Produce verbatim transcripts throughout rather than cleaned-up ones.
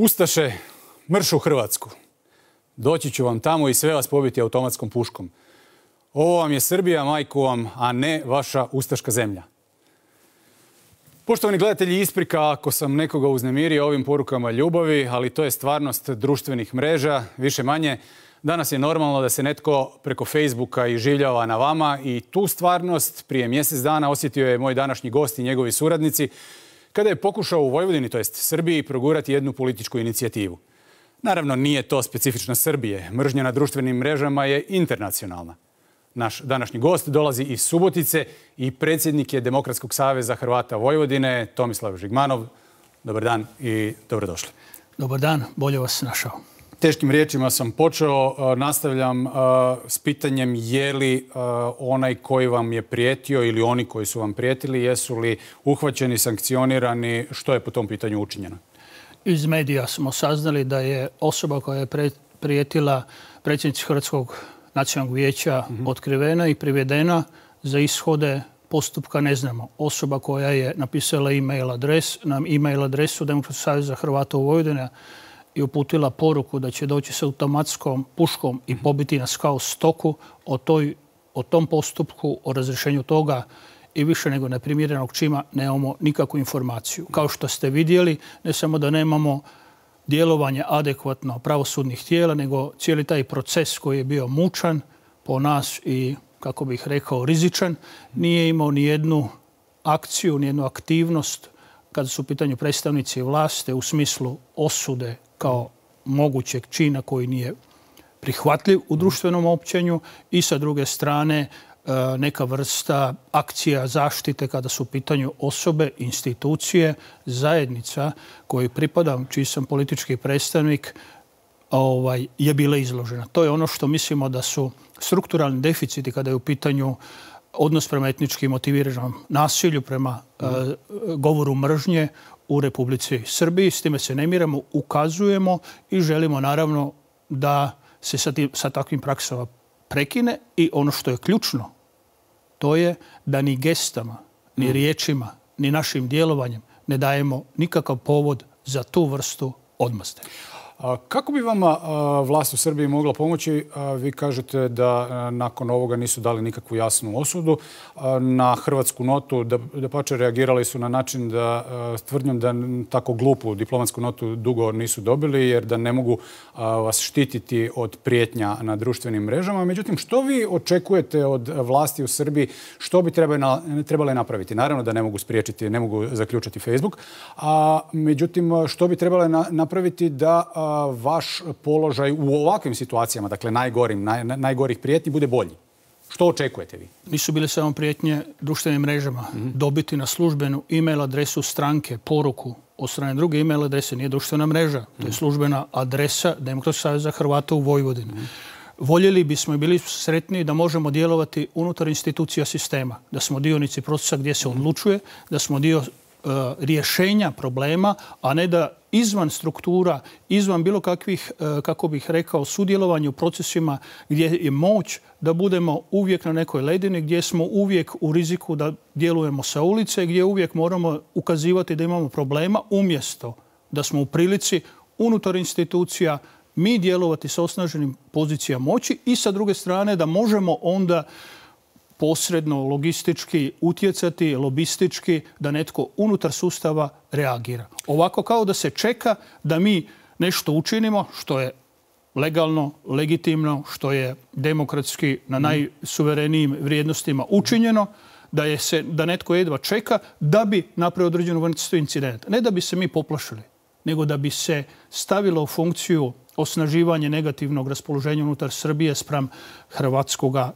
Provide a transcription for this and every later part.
Ustaše, mrš u Hrvatsku. Doći ću vam tamo i sve vas pobiti automatskom puškom. Ovo vam je Srbija, majku vam, a ne vaša ustaška zemlja. Poštovani gledatelji, isprika ako sam nekoga uznemirio ovim porukama ljubavi, ali to je stvarnost društvenih mreža, više manje. Danas je normalno da se netko preko Facebooka iživljava na vama i tu stvarnost prije mjesec dana osjetio je moj današnji gost i njegovi suradnici kada je pokušao u Vojvodini, to jest Srbiji, progurati jednu političku inicijativu. Naravno, nije to specifično Srbije. Mržnja na društvenim mrežama je internacionalna. Naš današnji gost dolazi iz Subotice i predsjednik je Demokratskog saveza Hrvata Vojvodine, Tomislav Žigmanov. Dobar dan i dobrodošli. Dobar dan, bolje vas našao. Teškim riječima sam počeo, nastavljam s pitanjem je li onaj koji vam je prijetio ili oni koji su vam prijetili, jesu li uhvaćeni, sankcionirani, što je po tom pitanju učinjeno? Iz medija smo saznali da je osoba koja je prijetila predsjednici Hrvatskog nacionalnog vijeća otkrivena i privedena. Za ishode postupka ne znamo. Osoba koja je napisala e-mail adres, nam e-mail adresu Demokratskog saveza Hrvata u Vojvodini i uputila poruku da će doći sa automatskom puškom i pobiti nas kao stoku, o, toj, o tom postupku, o razrješenju toga i više nego neprimjerenog čima nemamo nikakvu informaciju. Kao što ste vidjeli, ne samo da nemamo djelovanje adekvatno pravosudnih tijela, nego cijeli taj proces koji je bio mučan po nas i, kako bih rekao, rizičan, nije imao ni jednu akciju, ni jednu aktivnost kada su u pitanju predstavnici vlasti u smislu osude kao mogućeg čina koji nije prihvatljiv u društvenom općenju i sa druge strane neka vrsta akcija zaštite kada su u pitanju osobe, institucije, zajednica koji pripadam, čiji sam politički predstavnik, ovaj, je bila izložena. To je ono što mislimo da su strukturalni deficiti kada je u pitanju odnos prema etnički motiviranom nasilju, prema mm. uh, govoru mržnje u Republici Srbiji. S time se ne miramo, ukazujemo i želimo naravno da se sa, tim, sa takvim praksama prekine i ono što je ključno, to je da ni gestama, ni riječima, ni našim djelovanjem ne dajemo nikakav povod za tu vrstu odmazde. Kako bi vama vlast u Srbiji mogla pomoći? Vi kažete da nakon ovoga nisu dali nikakvu jasnu osudu. Na hrvatsku notu dapače reagirali su na način da tvrdnjom da tako glupu diplomatsku notu dugo nisu dobili jer da ne mogu vas štititi od prijetnja na društvenim mrežama. Međutim, što vi očekujete od vlasti u Srbiji? Što bi trebale napraviti? Naravno da ne mogu spriječiti, ne mogu zaključati Facebook. A međutim, što bi trebale napraviti da vaš položaj u ovakvim situacijama, dakle najgorim, naj, najgorih prijetnji, bude bolji? Što očekujete vi? Nisu bile samo prijetnje društvenim mrežama. Mm-hmm. Dobiti na službenu e-mail adresu stranke poruku od strane druge e-mail adrese nije društvena mreža. Mm-hmm. To je službena adresa Demokratskog saveza Hrvata u Vojvodini. Mm-hmm. Voljeli bismo i bili sretniji da možemo djelovati unutar institucija sistema. Da smo dionici procesa gdje se odlučuje, da smo dio uh, rješenja problema, a ne da izvan struktura, izvan bilo kakvih, kako bih rekao, sudjelovanja u procesima gdje je moć da budemo uvijek na nekoj ledini, gdje smo uvijek u riziku da djelujemo sa ulice, gdje uvijek moramo ukazivati da imamo problema, umjesto da smo u prilici unutar institucija mi djelovati sa osnaženim pozicijama moći i sa druge strane da možemo onda posredno, logistički utjecati, lobistički, da netko unutar sustava reagira. Ovako kao da se čeka da mi nešto učinimo što je legalno, legitimno, što je demokratski na najsuverenijim vrijednostima učinjeno, da, je se, da netko jedva čeka da bi napravio određenu vrstu incidenta. Ne da bi se mi poplašili, nego da bi se stavilo u funkciju osnaživanje negativnog raspoloženja unutar Srbije spram hrvatskoga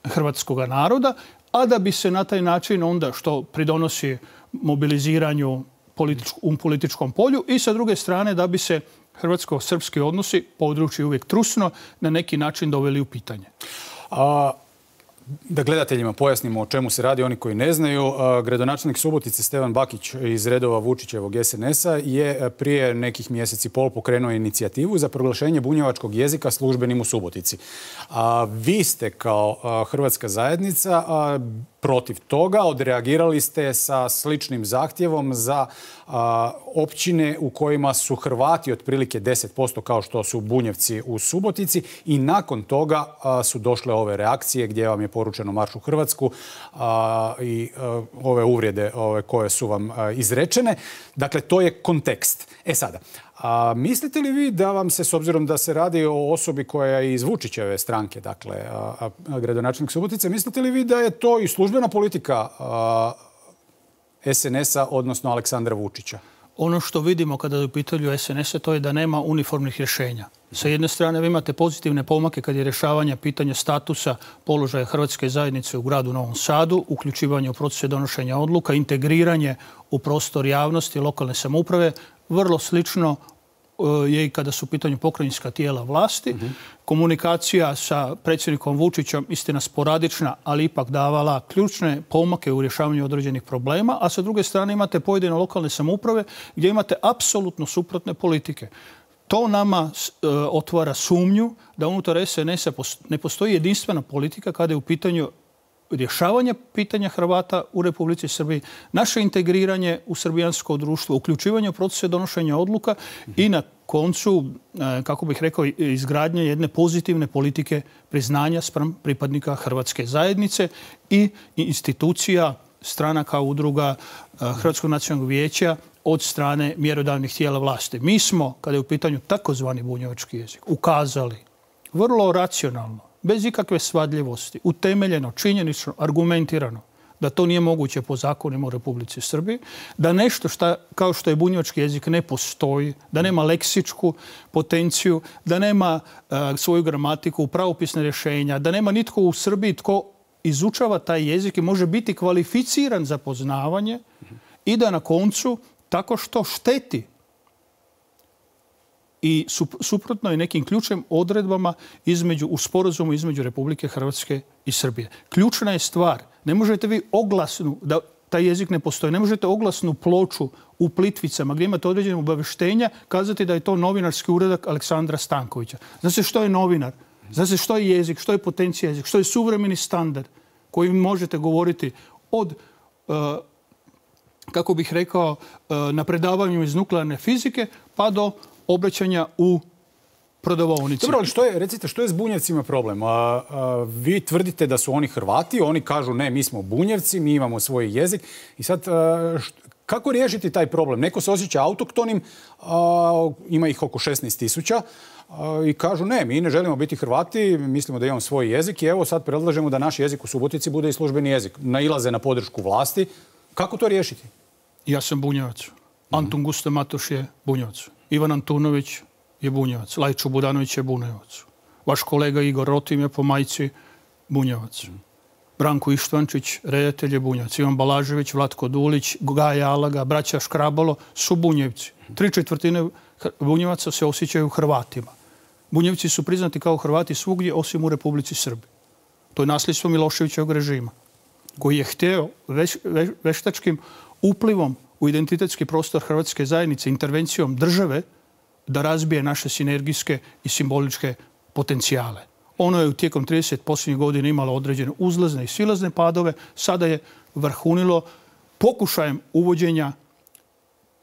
hrvatskog naroda, a da bi se na taj način onda što pridonosi mobiliziranju političk, u političkom polju i sa druge strane da bi se hrvatsko-srpski odnosi, područje uvijek trusno, na neki način doveli u pitanje. A, da gledateljima pojasnimo o čemu se radi, oni koji ne znaju, gradonačelnik Subotice Stevan Bakić iz redova Vučićevog es en es a je prije nekih mjeseci i pol pokrenuo inicijativu za proglašenje bunjevačkog jezika službenim u Subotici. A vi ste kao hrvatska zajednica protiv toga. Odreagirali ste sa sličnim zahtjevom za a, općine u kojima su Hrvati otprilike deset posto kao što su Bunjevci u Subotici i nakon toga a, su došle ove reakcije gdje vam je poručeno marš u Hrvatsku a, i a, ove uvrede ove koje su vam a, izrečene. Dakle, to je kontekst. E sada, a mislite li vi da vam se, s obzirom da se radi o osobi koja je iz Vučićeve stranke, dakle, a, a, gradonačelnik Subotice, mislite li vi da je to i službena politika a, S N S-a, odnosno Aleksandra Vučića? Ono što vidimo kada je u pitanju S N S-a to je da nema uniformnih rješenja. Sa jedne strane vi imate pozitivne pomake kad je rješavanje pitanja statusa položaja hrvatske zajednice u gradu Novom Sadu, uključivanje u procese donošenja odluka, integriranje u prostor javnosti lokalne samouprave. Vrlo slično je i kada su u pitanju pokrajinska tijela vlasti. Uh-huh. Komunikacija sa predsjednikom Vučićem, istina sporadična, ali ipak davala ključne pomake u rješavanju određenih problema, a sa druge strane imate pojedine lokalne samouprave gdje imate apsolutno suprotne politike. To nama e, otvara sumnju da unutar S N S-a ne postoji jedinstvena politika kada je u pitanju rješavanje pitanja Hrvata u Republici Srbiji, naše integriranje u srbijansko društvo, uključivanje u procese donošenja odluka i na koncu, kako bih rekao, izgradnje jedne pozitivne politike priznanja spram pripadnika hrvatske zajednice i institucija, stranaka, udruga Hrvatskog nacionalnog vijeća od strane mjerodavnih tijela vlasti. Mi smo, kada je u pitanju takozvani bunjevački jezik, ukazali vrlo racionalno, bez ikakve svadljivosti, utemeljeno, činjenično, argumentirano, da to nije moguće po zakonima u Republici Srbiji, da nešto šta, kao što je bunjevački jezik ne postoji, da nema leksičku potenciju, da nema uh, svoju gramatiku, pravopisne rješenja, da nema nitko u Srbiji tko izučava taj jezik i može biti kvalificiran za poznavanje i da na koncu tako što šteti i suprotno je nekim ključnim odredbama između, u sporazumu između Republike Hrvatske i Srbije. Ključna je stvar. Ne možete vi oglasnu, da taj jezik ne postoji, ne možete oglasnu ploču u Plitvicama gdje imate određene obavještenja kazati da je to novinarski uradak Aleksandra Stankovića. Zna se što je novinar, zna se što je jezik, što je potencija jezik, što je suvremeni standard koji možete govoriti od uh, kako bih rekao, uh, na predavanju iz nuklearne fizike pa do obraćanja u prodavaonici. Dobro, ali što je, recite, što je s Bunjevcima problem? A, a, vi tvrdite da su oni Hrvati, oni kažu ne, mi smo Bunjevci, mi imamo svoj jezik. I sad, a, št, kako riješiti taj problem? Neko se osjeća autoktonim, a, ima ih oko šesnaest tisuća i kažu ne, mi ne želimo biti Hrvati, mislimo da imamo svoj jezik i evo sad predlažemo da naš jezik u Subotici bude i službeni jezik. Nailaze na podršku vlasti. Kako to riješiti? Ja sam Bunjevac. Antun Gusto Matoš je Bunjevac. Ivan Antunović je Bunjevac. Lajčo Budanović je Bunjevac. Vaš kolega Igor Rotim je po majci Bunjevac. Branko Ištvančić, redatelj je Bunjevac. Ivan Balažević, Vlatko Dulić, Gaja Alaga, braća Škrabalo su Bunjevci. Tri četvrtine Bunjevaca se osjećaju Hrvatima. Bunjevci su priznati kao Hrvati svugdje osim u Republici Srbiji. To je nasljedstvo Miloševićevog režima koji je htio veš, veš, veštačkim uplivom u identitetski prostor hrvatske zajednice, intervencijom države, da razbije naše sinergijske i simboličke potencijale. Ono je tijekom trideset posljednjih godina imalo određene uzlazne i silazne padove. Sada je vrhunilo pokušajem uvođenja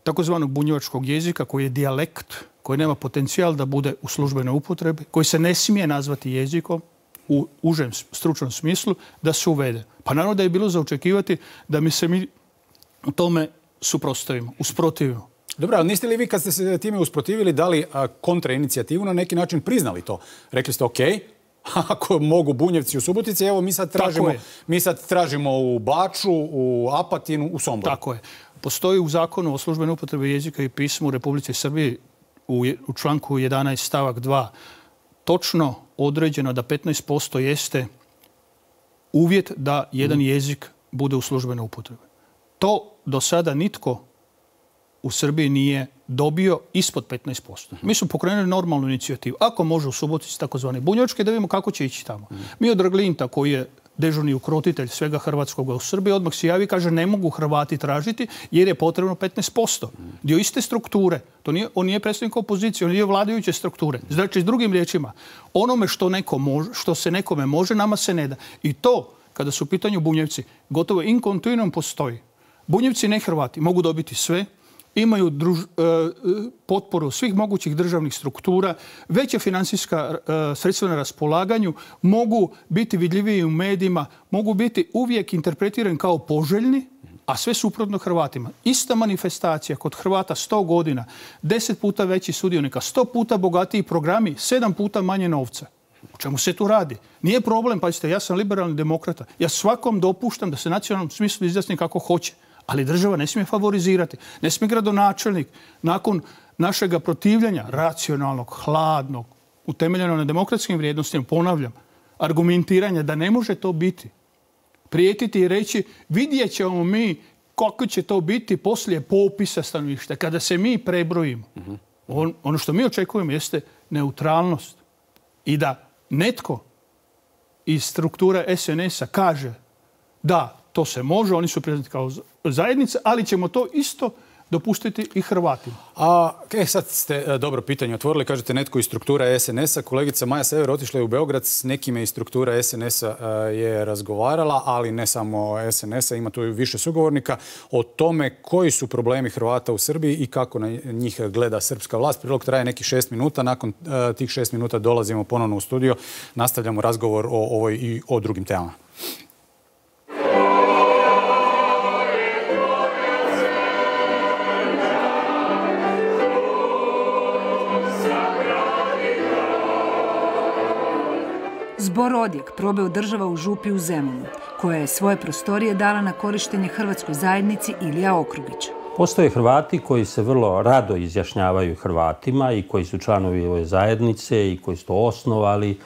takozvanog bunjevačkog jezika, koji je dijalekt, koji nema potencijal da bude u službenoj upotrebi, koji se ne smije nazvati jezikom u užem stručnom smislu, da se uvede. Pa naravno da je bilo za očekivati da mi se mi u tome suprotstavimo, usprotivimo. Dobro, ali niste li vi kad ste se time usprotivili dali kontrainicijativu na neki način priznali to? Rekli ste ok, ako mogu Bunjevci u Subotici, evo mi sad tražimo, mi sad tražimo u Baču, u Apatinu, u Somboru. Tako je. Postoji u zakonu o službenoj upotrebi jezika i pisma u Republici Srbiji u, u članku jedanaest stavak dva točno određeno da petnaest posto jeste uvjet da jedan jezik bude u službenoj upotrebi. To do sada nitko u Srbiji nije dobio ispod petnaest posto. Mi smo pokrenuli normalnu inicijativu. Ako može u Subotici takozvani bunjevački, da vidimo kako će ići tamo. Mi od Draglinta, koji je dežurni ukrotitelj svega hrvatskoga u Srbiji, odmah se javi i kaže ne mogu Hrvati tražiti jer je potrebno petnaest posto. Dio iste strukture. To nije, on nije predstavnik opozicije, on nije vladajuće strukture. Znači, s drugim riječima, onome što, neko može, što se nekome može, nama se ne da. I to kada su u pitanju Bunjevci, gotovo in continuum postoji. Bunjevci, ne Hrvati, mogu dobiti sve, imaju druž, e, potporu svih mogućih državnih struktura, veća financijska e, sredstva na raspolaganju, mogu biti vidljiviji u medijima, mogu biti uvijek interpretirani kao poželjni, a sve suprotno Hrvatima. Ista manifestacija kod Hrvata sto godina, deset puta veći sudionika, sto puta bogatiji programi, sedam puta manje novca. O čemu se tu radi? Nije problem, pazite, ja sam liberalni demokrata. Ja svakom dopuštam da se nacionalnom smislu izjasni kako hoće. Ali država ne smije favorizirati. Ne smije gradonačelnik nakon našega protivljenja, racionalnog, hladnog, utemeljeno na demokratskim vrijednostima, ponavljam, argumentiranja da ne može to biti. Prijetiti i reći vidjet ćemo mi kako će to biti poslije popisa stanovništva, kada se mi prebrojimo. On, ono što mi očekujemo jeste neutralnost. I da netko iz strukture es en es-a kaže da, to se može, oni su priznati kao zajednica, ali ćemo to isto dopustiti i Hrvatima. A, e, sad ste dobro pitanje otvorili. Kažete netko iz struktura es en es-a. Kolegica Maja Sever otišla je u Beograd. S nekime iz struktura es en es-a je razgovarala, ali ne samo es en es-a. Ima tu više sugovornika o tome koji su problemi Hrvata u Srbiji i kako na njih gleda srpska vlast. Prilog traje nekih šest minuta. Nakon uh, tih šest minuta dolazimo ponovno u studio. Nastavljamo razgovor o ovoj i o drugim temama. Zbor Odjek probao država u župi u Zemunu, koja je svoje prostorije dala na korištenje hrvatskoj zajednici Ilija Okrugić. Postoje Hrvati koji se vrlo rado izjašnjavaju Hrvatima i koji su članovi ove zajednice i koji su to osnovali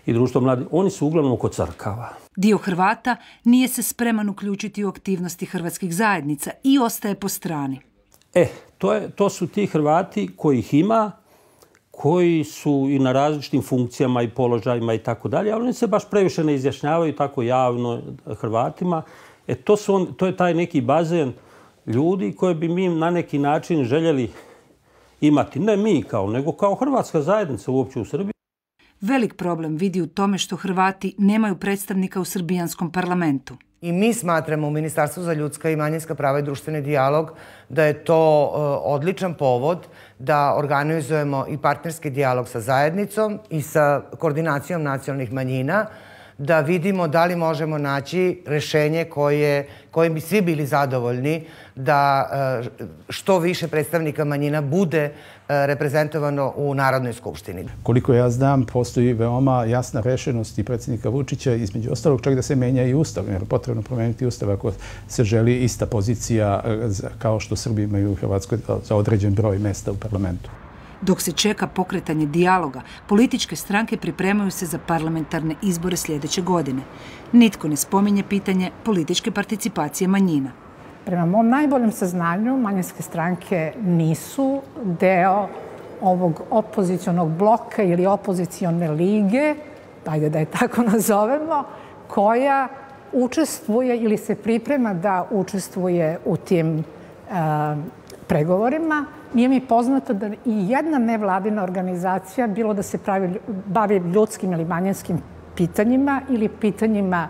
i društvo mladih. Oni su uglavnom oko crkava. Dio Hrvata nije se spreman uključiti u aktivnosti hrvatskih zajednica i ostaje po strani. E, to, je, to su ti Hrvati kojih ima, koji su i na različitim funkcijama i položajima i tako dalje, ali oni se baš previše ne izjašnjavaju tako javno Hrvatima. E, to, su on, to je taj neki bazen ljudi koje bi mi na neki način željeli imati. Ne mi kao, nego kao hrvatska zajednica uopće u Srbiji. Velik problem vidi u tome što Hrvati nemaju predstavnika u srbijanskom parlamentu. I mi smatramo u Ministarstvu za ljudska i manjinska prava i društveni dijalog da je to uh, odličan povod da organizujemo i partnerski dijalog sa zajednicom i sa koordinacijom nacionalnih manjina, da vidimo da li možemo naći rješenje koje, kojim bi svi bili zadovoljni, da uh, što više predstavnika manjina bude uh, reprezentovano u Narodnoj skupštini. Koliko ja znam, postoji veoma jasna rešenost i predsjednika Vučića, između ostalog čak da se menja i ustav, jer je potrebno promeniti ustav ako se želi ista pozicija kao što Srbi imaju u Hrvatskoj za određen broj mesta u parlamentu. Dok se čeka pokretanje dijaloga, političke stranke pripremaju se za parlamentarne izbore sljedeće godine. Nitko ne spominje pitanje političke participacije manjina. Prema mom najboljem saznanju, manjinske stranke nisu deo ovog opozicionog bloka ili opozicione lige, ajde da je tako nazovemo, koja učestvuje ili se priprema da učestvuje u tim uh, pregovorima. Nije mi poznato da i jedna nevladina organizacija, bilo da se pravi, bavi ljudskim ili manjinskim pitanjima ili pitanjima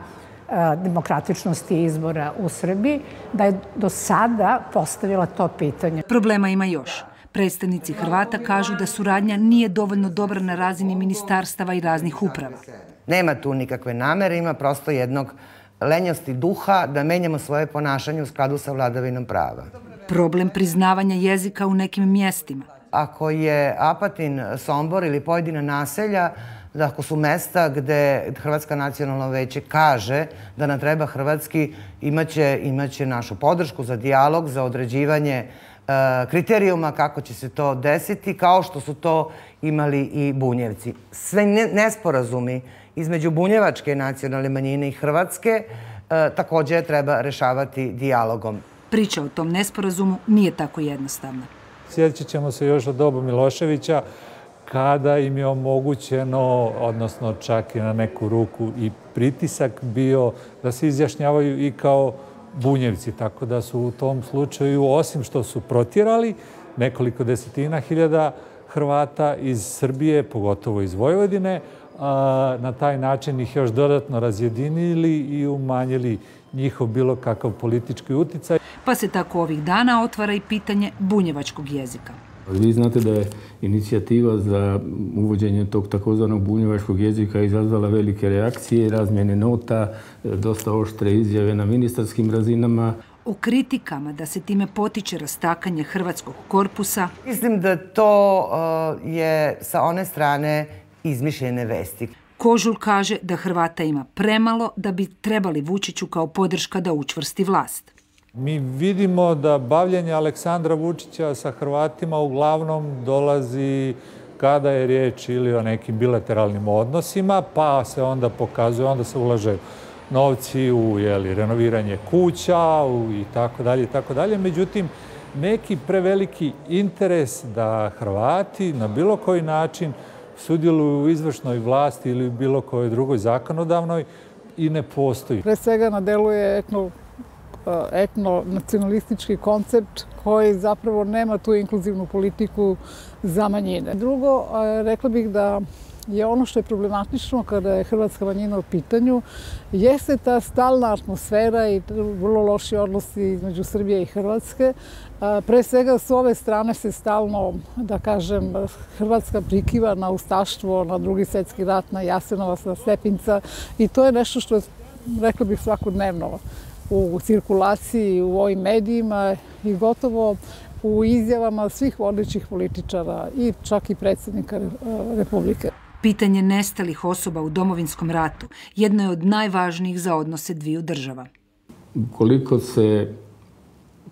demokratičnosti izbora u Srbiji, da je do sada postavila to pitanje. Problema ima još. Predstavnici Hrvata kažu da suradnja nije dovoljno dobra na razini ministarstava i raznih uprava. Nema tu nikakve namere, ima prosto jednog lenjosti duha da menjamo svoje ponašanje u skladu sa vladavinom prava. Problem priznavanja jezika u nekim mjestima. Ako je Apatin, Sombor ili pojedina naselja, da ako su mesta gde Hrvatska nacionalno veće kaže da nam treba hrvatski, imaće, imaće našu podršku za dijalog, za određivanje e, kriterijuma kako će se to desiti, kao što su to imali i Bunjevci. Sve nesporazumi između bunjevačke nacionalne manjine i Hrvatske e, također treba rešavati dijalogom. Priča o tom nesporazumu nije tako jednostavna. Sjećat ćemo se još od doba Miloševića, kada im je omogućeno, odnosno čak i na neku ruku i pritisak bio da se izjašnjavaju i kao Bunjevci. Tako da su u tom slučaju, osim što su protjerali nekoliko desetina hiljada Hrvata iz Srbije, pogotovo iz Vojvodine, na taj način ih još dodatno razjedinili i umanjili njihov bilo kakav politički uticaj. Pa se tako ovih dana otvara i pitanje bunjevačkog jezika. Vi znate da je inicijativa za uvođenje tog takozvanog bunjevačkog jezika izazvala velike reakcije, razmjene nota, dosta oštre izjave na ministarskim razinama. O kritikama da se time potiče rastakanje hrvatskog korpusa. Mislim da to uh, je sa one strane izmišljene vesti. Kožul kaže da Hrvata ima premalo da bi trebali Vučiću kao podrška da učvrsti vlast. Mi vidimo da bavljenje Aleksandra Vučića sa Hrvatima uglavnom dolazi kada je riječ ili o nekim bilateralnim odnosima, pa se onda pokazuje, onda se ulaže novci u jeli, renoviranje kuća u, i tako dalje i tako dalje. Međutim, neki preveliki interes da Hrvati na bilo koji način sudjeluju u izvršnoj vlasti ili u bilo kojoj drugoj zakonodavnoj i ne postoji. Pre svega na delu je etno, etno-nacionalistički koncept koji zapravo nema tu inkluzivnu politiku za manjine. Drugo, rekla bih da je ono što je problematično kada je hrvatska manjina u pitanju, jeste ta stalna atmosfera i vrlo loši odnosi između Srbije i Hrvatske. Pre svega s ove strane se stalno, da kažem, Hrvatska prikiva na ustaštvo, na Drugi svjetski rat, na Jasenovac, na Stepinca i to je nešto što je, rekla bih, svakodnevno u cirkulaciji, u ovim medijima i gotovo u izjavama svih vodećih političara i čak i predsjednika Republike. Pitanje nestalih osoba u Domovinskom ratu jedno je od najvažnijih za odnose dviju država. Koliko se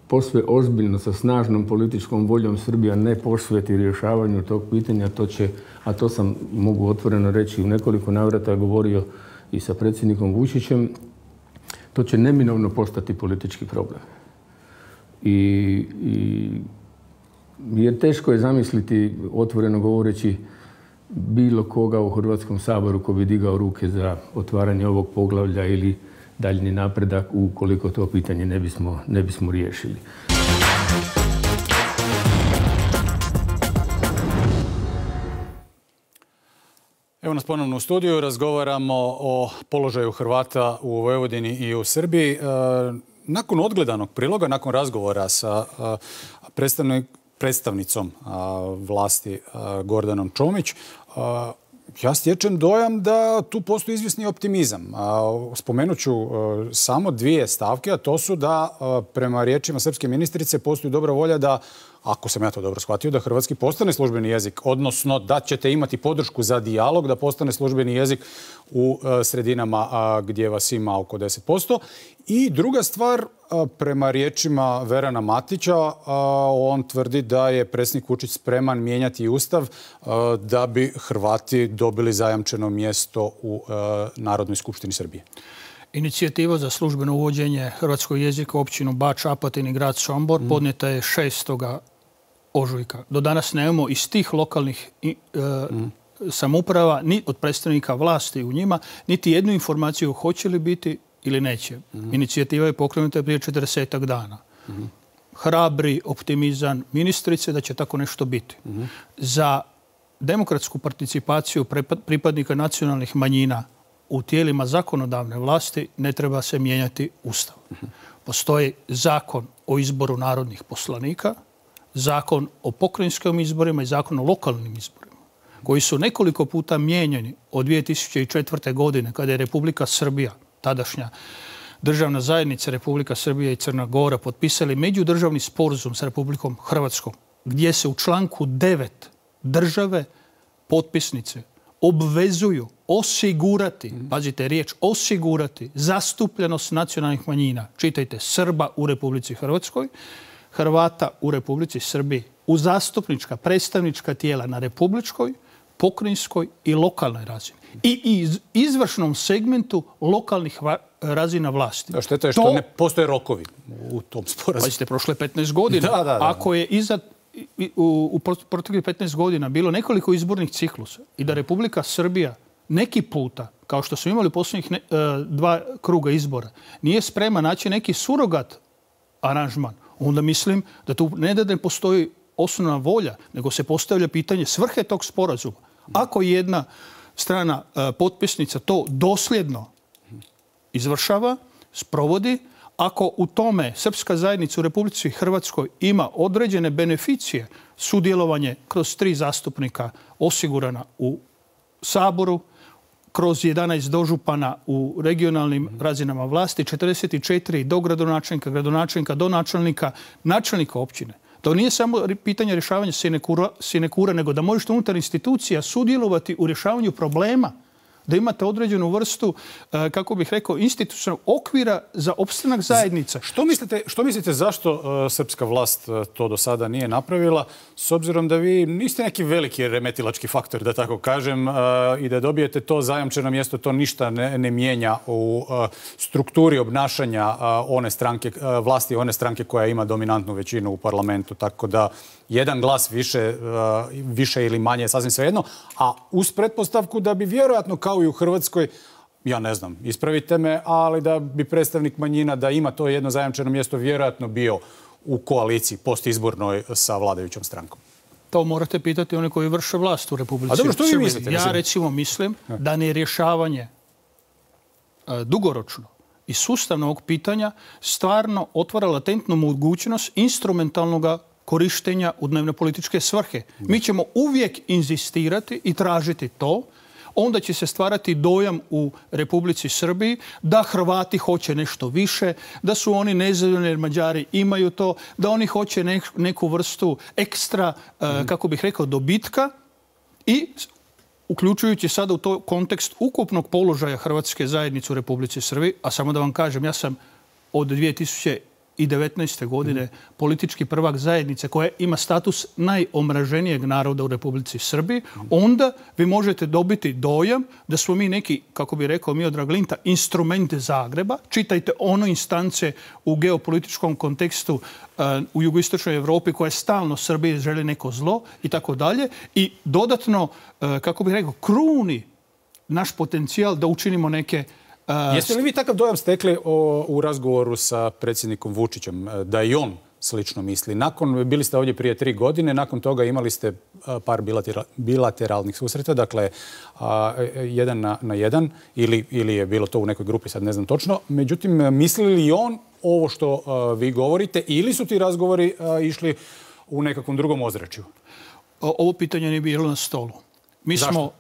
posve ozbiljno sa snažnom političkom voljom Srbija ne posveti rješavanju tog pitanja, to će, a to sam mogu otvoreno reći u nekoliko navrata govorio i sa predsjednikom Vučićem, to će neminovno postati politički problem. I, i, jer teško je zamisliti, otvoreno govoreći, bilo koga u Hrvatskom saboru ko bi digao ruke za otvaranje ovog poglavlja ili daljnji napredak ukoliko to pitanje ne bismo, ne bismo riješili. Evo nas ponovno u studiju, razgovaramo o položaju Hrvata u Vojvodini i u Srbiji. Nakon odgledanog priloga, nakon razgovora sa predstavnicom vlasti Gordanom Čomić, ja stječem dojam da tu postoji izvjesni optimizam. Spomenut ću samo dvije stavke, a to su da prema riječima srpske ministrice postoji dobra volja da, ako sam ja to dobro shvatio, da hrvatski postane službeni jezik, odnosno da ćete imati podršku za dijalog da postane službeni jezik u sredinama gdje vas ima oko deset posto. I druga stvar, prema riječima Verana Matića, on tvrdi da je predsjednik Vučić spreman mijenjati Ustav da bi Hrvati dobili zajamčeno mjesto u Narodnoj skupštini Srbije. Inicijativa za službeno uvođenje hrvatskog jezika u općinu Bač, Apatin i grad Sombor mm. podnijeta je šestoga ožujka. Do danas nemamo iz tih lokalnih e, mm. samouprava, ni od predstavnika vlasti u njima, niti jednu informaciju hoće li biti ili neće. Mm. Inicijativa je pokrenuta prije četrdesetak dana. Mm. Hrabri optimizam ministrice da će tako nešto biti. Mm. Za demokratsku participaciju pripadnika nacionalnih manjina u tijelima zakonodavne vlasti ne treba se mijenjati Ustav. Postoji zakon o izboru narodnih poslanika, zakon o pokrajinskim izborima i zakon o lokalnim izborima, koji su nekoliko puta mijenjani od dvije tisuće četvrte. godine, kada je Republika Srbija, tadašnja državna zajednica Republika Srbija i Crna Gora, potpisali međudržavni sporazum sa Republikom Hrvatskom, gdje se u članku devet države potpisnice obvezuju osigurati, pazite riječ, osigurati zastupljenost nacionalnih manjina, čitajte, Srba u Republici Hrvatskoj, Hrvata u Republici Srbiji, u zastupnička, predstavnička tijela na republičkoj, pokrajinskoj i lokalnoj razini. I iz izvršnom segmentu lokalnih razina vlasti. Da, šteta je što to, ne postoje rokovi u tom sporazumu. Pazite, prošle petnaest godina. Da, da, da. Ako je iza u, u proteklih petnaest godina bilo nekoliko izbornih ciklusa i da Republika Srbija neki puta, kao što smo imali u posljednjih ne, dva kruga izbora, nije sprema naći neki surogat aranžman, onda mislim da tu ne da ne postoji osnovna volja, nego se postavlja pitanje svrhe tog sporazuma. Ako jedna strana potpisnica to dosljedno izvršava, sprovodi, ako u tome srpska zajednica u Republici Hrvatskoj ima određene beneficije, sudjelovanje kroz tri zastupnika osigurana u Saboru, kroz jedanaest dožupana u regionalnim razinama vlasti, četrdeset četiri dogradonačelnika, gradonačelnika, do načelnika, načelnika općine. To nije samo pitanje rješavanja sinekura, sinekura, nego da možete unutar institucija sudjelovati u rješavanju problema, da imate određenu vrstu, kako bih rekao, institucionalnog okvira za opstanak zajednice. Što mislite, što mislite zašto uh, srpska vlast uh, to do sada nije napravila, s obzirom da vi niste neki veliki remetilački faktor, da tako kažem, uh, i da dobijete to zajamčeno mjesto, to ništa ne, ne mijenja u uh, strukturi obnašanja uh, one stranke, uh, vlasti one stranke koja ima dominantnu većinu u parlamentu, tako da jedan glas više, uh, više ili manje je sasvim svejedno, a uz pretpostavku da bi vjerojatno kao i u Hrvatskoj, ja ne znam, ispravite me, ali da bi predstavnik manjina da ima to jedno zajamčeno mjesto vjerojatno bio u koaliciji postizbornoj sa vladajućom strankom. To morate pitati one koji vrše vlast u Republici. A dobro, što vi mislite? Ja recimo mislim da ne rješavanje dugoročno i sustavno ovog pitanja stvarno otvara latentnu mogućnost instrumentalnog korištenja u dnevne političke svrhe. Mi ćemo uvijek inzistirati i tražiti to, onda će se stvarati dojam u Republici Srbiji da Hrvati hoće nešto više, da su oni nezadovoljni jer Mađari imaju to, da oni hoće neku vrstu ekstra, kako bih rekao, dobitka i uključujući sada u to kontekst ukupnog položaja hrvatske zajednice u Republici Srbiji, a samo da vam kažem, ja sam od dvije tisuće devetnaeste. godine politički prvak zajednice koja ima status najomraženijeg naroda u Republici Srbiji, onda vi možete dobiti dojam da smo mi neki, kako bi rekao Miodrag Linta, instrumente Zagreba. Čitajte ono instance u geopolitičkom kontekstu uh, u jugoistočnoj Evropi koja stalno Srbiji želi neko zlo i tako dalje. I dodatno, uh, kako bih rekao, kruni naš potencijal da učinimo neke Uh, Jeste li vi takav dojam stekli o, u razgovoru sa predsjednikom Vučićem, da i on slično misli? Nakon, bili ste ovdje prije tri godine, nakon toga imali ste par bilatera, bilateralnih susreta, dakle uh, jedan na, na jedan, ili, ili je bilo to u nekoj grupi, sad ne znam točno. Međutim, misli li on ovo što uh, vi govorite ili su ti razgovori uh, išli u nekakvom drugom ozračju? Ovo pitanje nije bilo na stolu. Mi Zašto? smo...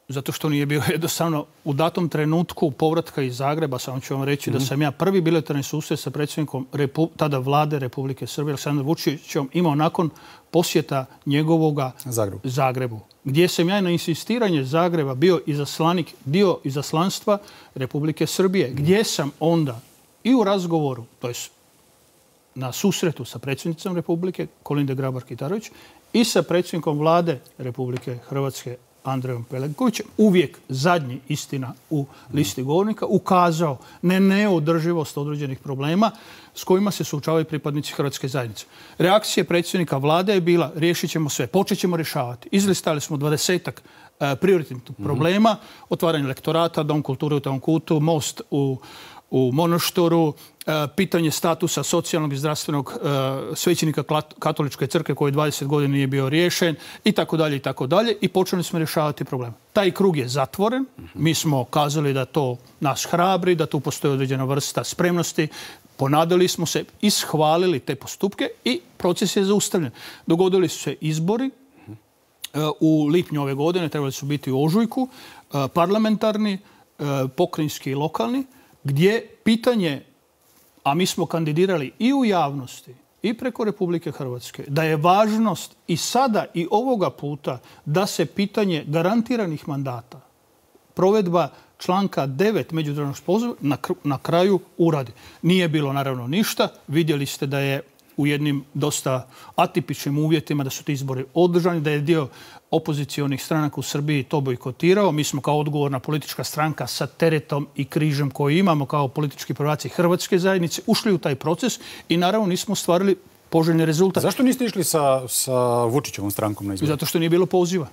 Zato što nije bio jednostavno u datom trenutku povratka iz Zagreba, samo ću vam reći mm-hmm. da sam ja prvi bilateralni susret sa predsjednikom Repu, tada vlade Republike Srbije, Aleksandrom Vučićem, imao nakon posjeta njegovoga Zagrebu. Zagrebu, gdje sam ja na insistiranje Zagreba bio izaslanik, dio izaslanstva Republike Srbije, mm-hmm. gdje sam onda i u razgovoru, to jest na susretu sa predsjednicom Republike, Kolinde Grabar-Kitarović, i sa predsjednikom vlade Republike Hrvatske, Andrejom Plenkovićem, uvijek zadnji, istina, u listi govornika, ukazao na neodrživost određenih problema s kojima se suočavaju pripadnici hrvatske zajednice. Reakcija predsjednika vlade je bila riješit ćemo sve, počet ćemo rješavati. Izlistali smo dvadesetak prioritetnih problema, otvaranje lektorata, dom kulture u tom kutu, most u u Monoštoru, pitanje statusa socijalnog i zdravstvenog svećenika katoličke crkve koji dvadeset godina nije bio riješen i tako dalje i tako dalje i počeli smo rješavati problem. Taj krug je zatvoren. Mi smo kazali da to nas hrabri, da tu postoji određena vrsta spremnosti. Ponadali smo se, ishvalili te postupke i proces je zaustavljen. Dogodili su se izbori u lipnju ove godine, trebali su biti u ožujku, parlamentarni, pokrajinski i lokalni, gdje pitanje, a mi smo kandidirali i u javnosti i preko Republike Hrvatske, da je važnost i sada i ovoga puta da se pitanje garantiranih mandata, provedba članka devet međudržavnog sporazuma na, na kraju uradi. Nije bilo naravno ništa. Vidjeli ste da je u jednim dosta atipičnim uvjetima da su ti izbori održani, da je dio opozicionih stranaka u Srbiji to bojkotirao. Mi smo kao odgovorna politička stranka sa teretom i križem koji imamo kao politički prvaci hrvatske zajednice ušli u taj proces i naravno nismo ostvarili poželjni rezultat. Zašto niste išli sa, sa Vučićevom strankom na izbore? Zato što nije bilo poziva.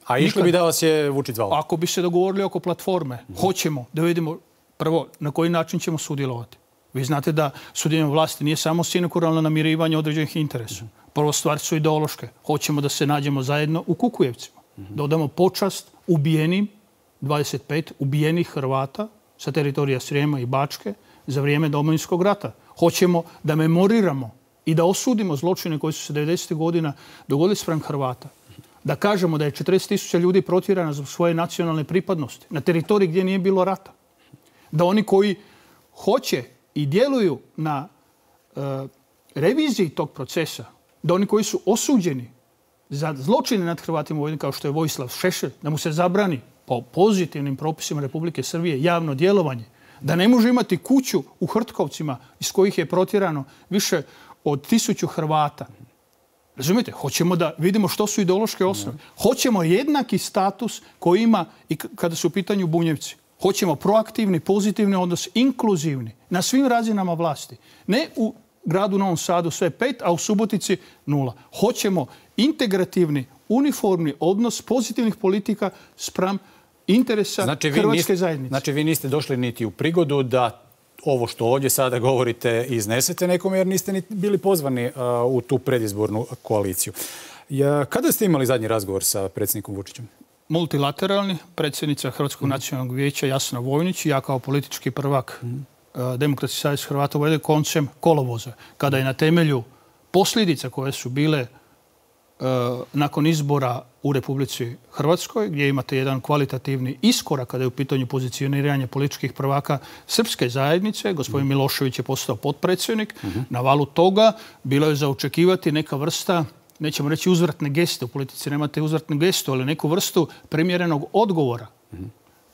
A išli Nikad. bi da vas je Vučić zvao? Ako bi se dogovorili oko platforme, mm-hmm. hoćemo da vidimo prvo na koji način ćemo sudjelovati. Vi znate da sudjelovanje vlasti nije samo sinekuralno namirivanje određenih interesa. Prvo stvari su ideološke. Hoćemo da se nađemo zajedno u Kukujevcima. Da odamo počast ubijenim, dvadeset pet ubijenih Hrvata sa teritorija Srijema i Bačke za vrijeme Domovinskog rata. Hoćemo da memoriramo i da osudimo zločine koji su se devedesetih godina dogodili spram Hrvata. Da kažemo da je četrdeset tisuća ljudi protjerano zbog svoje nacionalne pripadnosti na teritoriji gdje nije bilo rata. Da oni koji hoće i djeluju na e, reviziji tog procesa, da oni koji su osuđeni za zločine nad Hrvatima u Vojvodini, kao što je Vojislav Šešelj, da mu se zabrani po pozitivnim propisima Republike Srbije javno djelovanje, da ne može imati kuću u Hrtkovcima iz kojih je protjerano više od tisuću Hrvata. Razumijete? Hoćemo da vidimo što su ideološke osnove. Hoćemo jednaki status koji ima i kada su u pitanju Bunjevci. Hoćemo proaktivni, pozitivni odnos, inkluzivni, na svim razinama vlasti. Ne u gradu Novom Sadu sve pet, a u Subotici nula. Hoćemo integrativni, uniformni odnos pozitivnih politika spram interesa znači, Hrvatske niste, zajednice. Znači vi niste došli niti u prigodu da ovo što ovdje sada govorite iznesete nekome jer niste ni bili pozvani uh, u tu predizbornu koaliciju. Ja, kada ste imali zadnji razgovor sa predsjednikom Vučićem? Multilateralni, predsjednica Hrvatskog mm. nacionalnog vijeća Jasna Vojnić i ja kao politički prvak mm. uh, Demokratski savez Hrvata u Vojvodini koncem kolovoza, kada je na temelju posljedica koje su bile uh, nakon izbora u Republici Hrvatskoj, gdje imate jedan kvalitativni iskorak kada je u pitanju pozicioniranja političkih prvaka srpske zajednice. Gospodin Milošević je postao potpredsjednik. Mm-hmm. Na valu toga bilo je za očekivati neka vrsta, nećemo reći uzvratne geste, u politici nemate uzvratne gestu, ali neku vrstu primjerenog odgovora. Mm-hmm.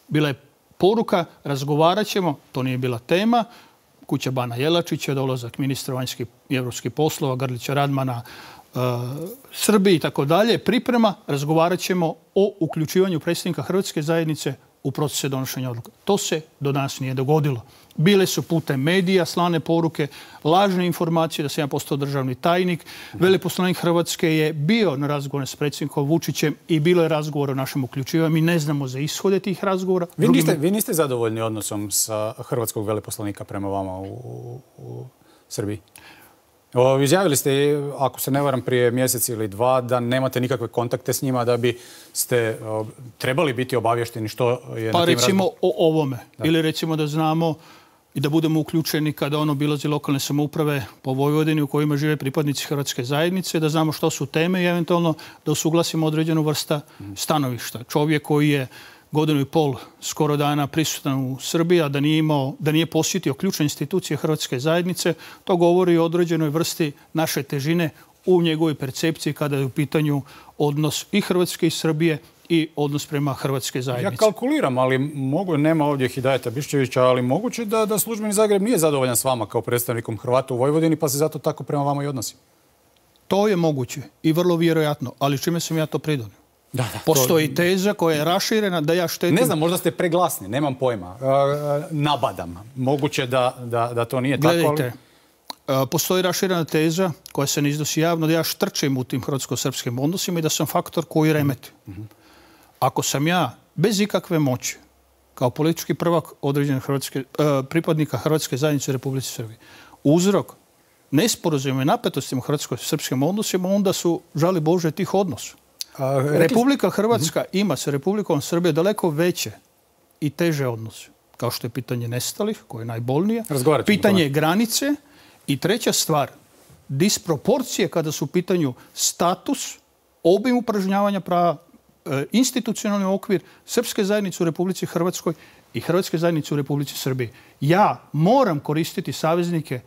Bila je poruka, razgovarat ćemo, to nije bila tema, kuća Bana Jelačića, dolazak ministra vanjskih i evropskih poslova, Grlića Radmana, Uh, Srbiji i tako dalje, priprema, razgovarat ćemo o uključivanju predsjednika Hrvatske zajednice u procese donošenja odluka. To se do danas nije dogodilo. Bile su putem medija slane poruke, lažne informacije da sam ja postao državni tajnik. Veleposlanik Hrvatske je bio na razgovoru s predsjednikom Vučićem i bilo je razgovor o našem uključivanju. Mi ne znamo za ishode tih razgovora. Vi niste, vi niste zadovoljni odnosom sa hrvatskog veleposlanika prema vama u, u, u Srbiji? O, izjavili ste, ako se ne varam, prije mjesec ili dva, da nemate nikakve kontakte s njima, da bi ste o, trebali biti obavješteni što je pa na tim recimo razgo... o ovome. Da. Ili recimo da znamo i da budemo uključeni kada on obilazi lokalne samouprave po Vojvodini u kojima žive pripadnici Hrvatske zajednice, da znamo što su teme i eventualno da usuglasimo određenu vrsta stanovišta. Čovjek koji je godinu i pol skoro dana prisutan u Srbiji, a da nije, imao, da nije posjetio ključne institucije Hrvatske zajednice, to govori o određenoj vrsti naše težine u njegovoj percepciji kada je u pitanju odnos i Hrvatske i Srbije i odnos prema Hrvatske zajednice. Ja kalkuliram, ali mogu, nema ovdje Hidajeta Biščevića, ali moguće da, da službeni Zagreb nije zadovoljan s vama kao predstavnikom Hrvata u Vojvodini, pa se zato tako prema vama i odnosi. To je moguće i vrlo vjerojatno, ali čime sam ja to pridonio? Da, da, Postoji to... teza koja je raširena da ja štetim... Ne znam, možda ste preglasni, nemam pojma. E, nabadam. Moguće da, da, da to nije Gledajte, tako, ali... Gledajte, postoji raširena teza koja se ne iznosi javno da ja štrčim u tim hrvatsko-srpskim odnosima i da sam faktor koji remeti. Mm-hmm. Ako sam ja bez ikakve moći kao politički prvak određenih hrvatske, uh, pripadnika Hrvatske zajednice u Republici Srbiji uzrok nesporazumima i napetostima u hrvatsko-srpskim odnosima, onda su, žali Bože, tih odnosa. A, Republika Hrvatska mm-hmm. ima sa Republikom Srbije daleko veće i teže odnose. Kao što je pitanje nestalih, koje je najbolnije. Pitanje granice i treća stvar, disproporcije kada su u pitanju status, obim upražnjavanja prava, institucionalni okvir Srpske zajednice u Republici Hrvatskoj i Hrvatske zajednice u Republici Srbiji. Ja moram koristiti saveznike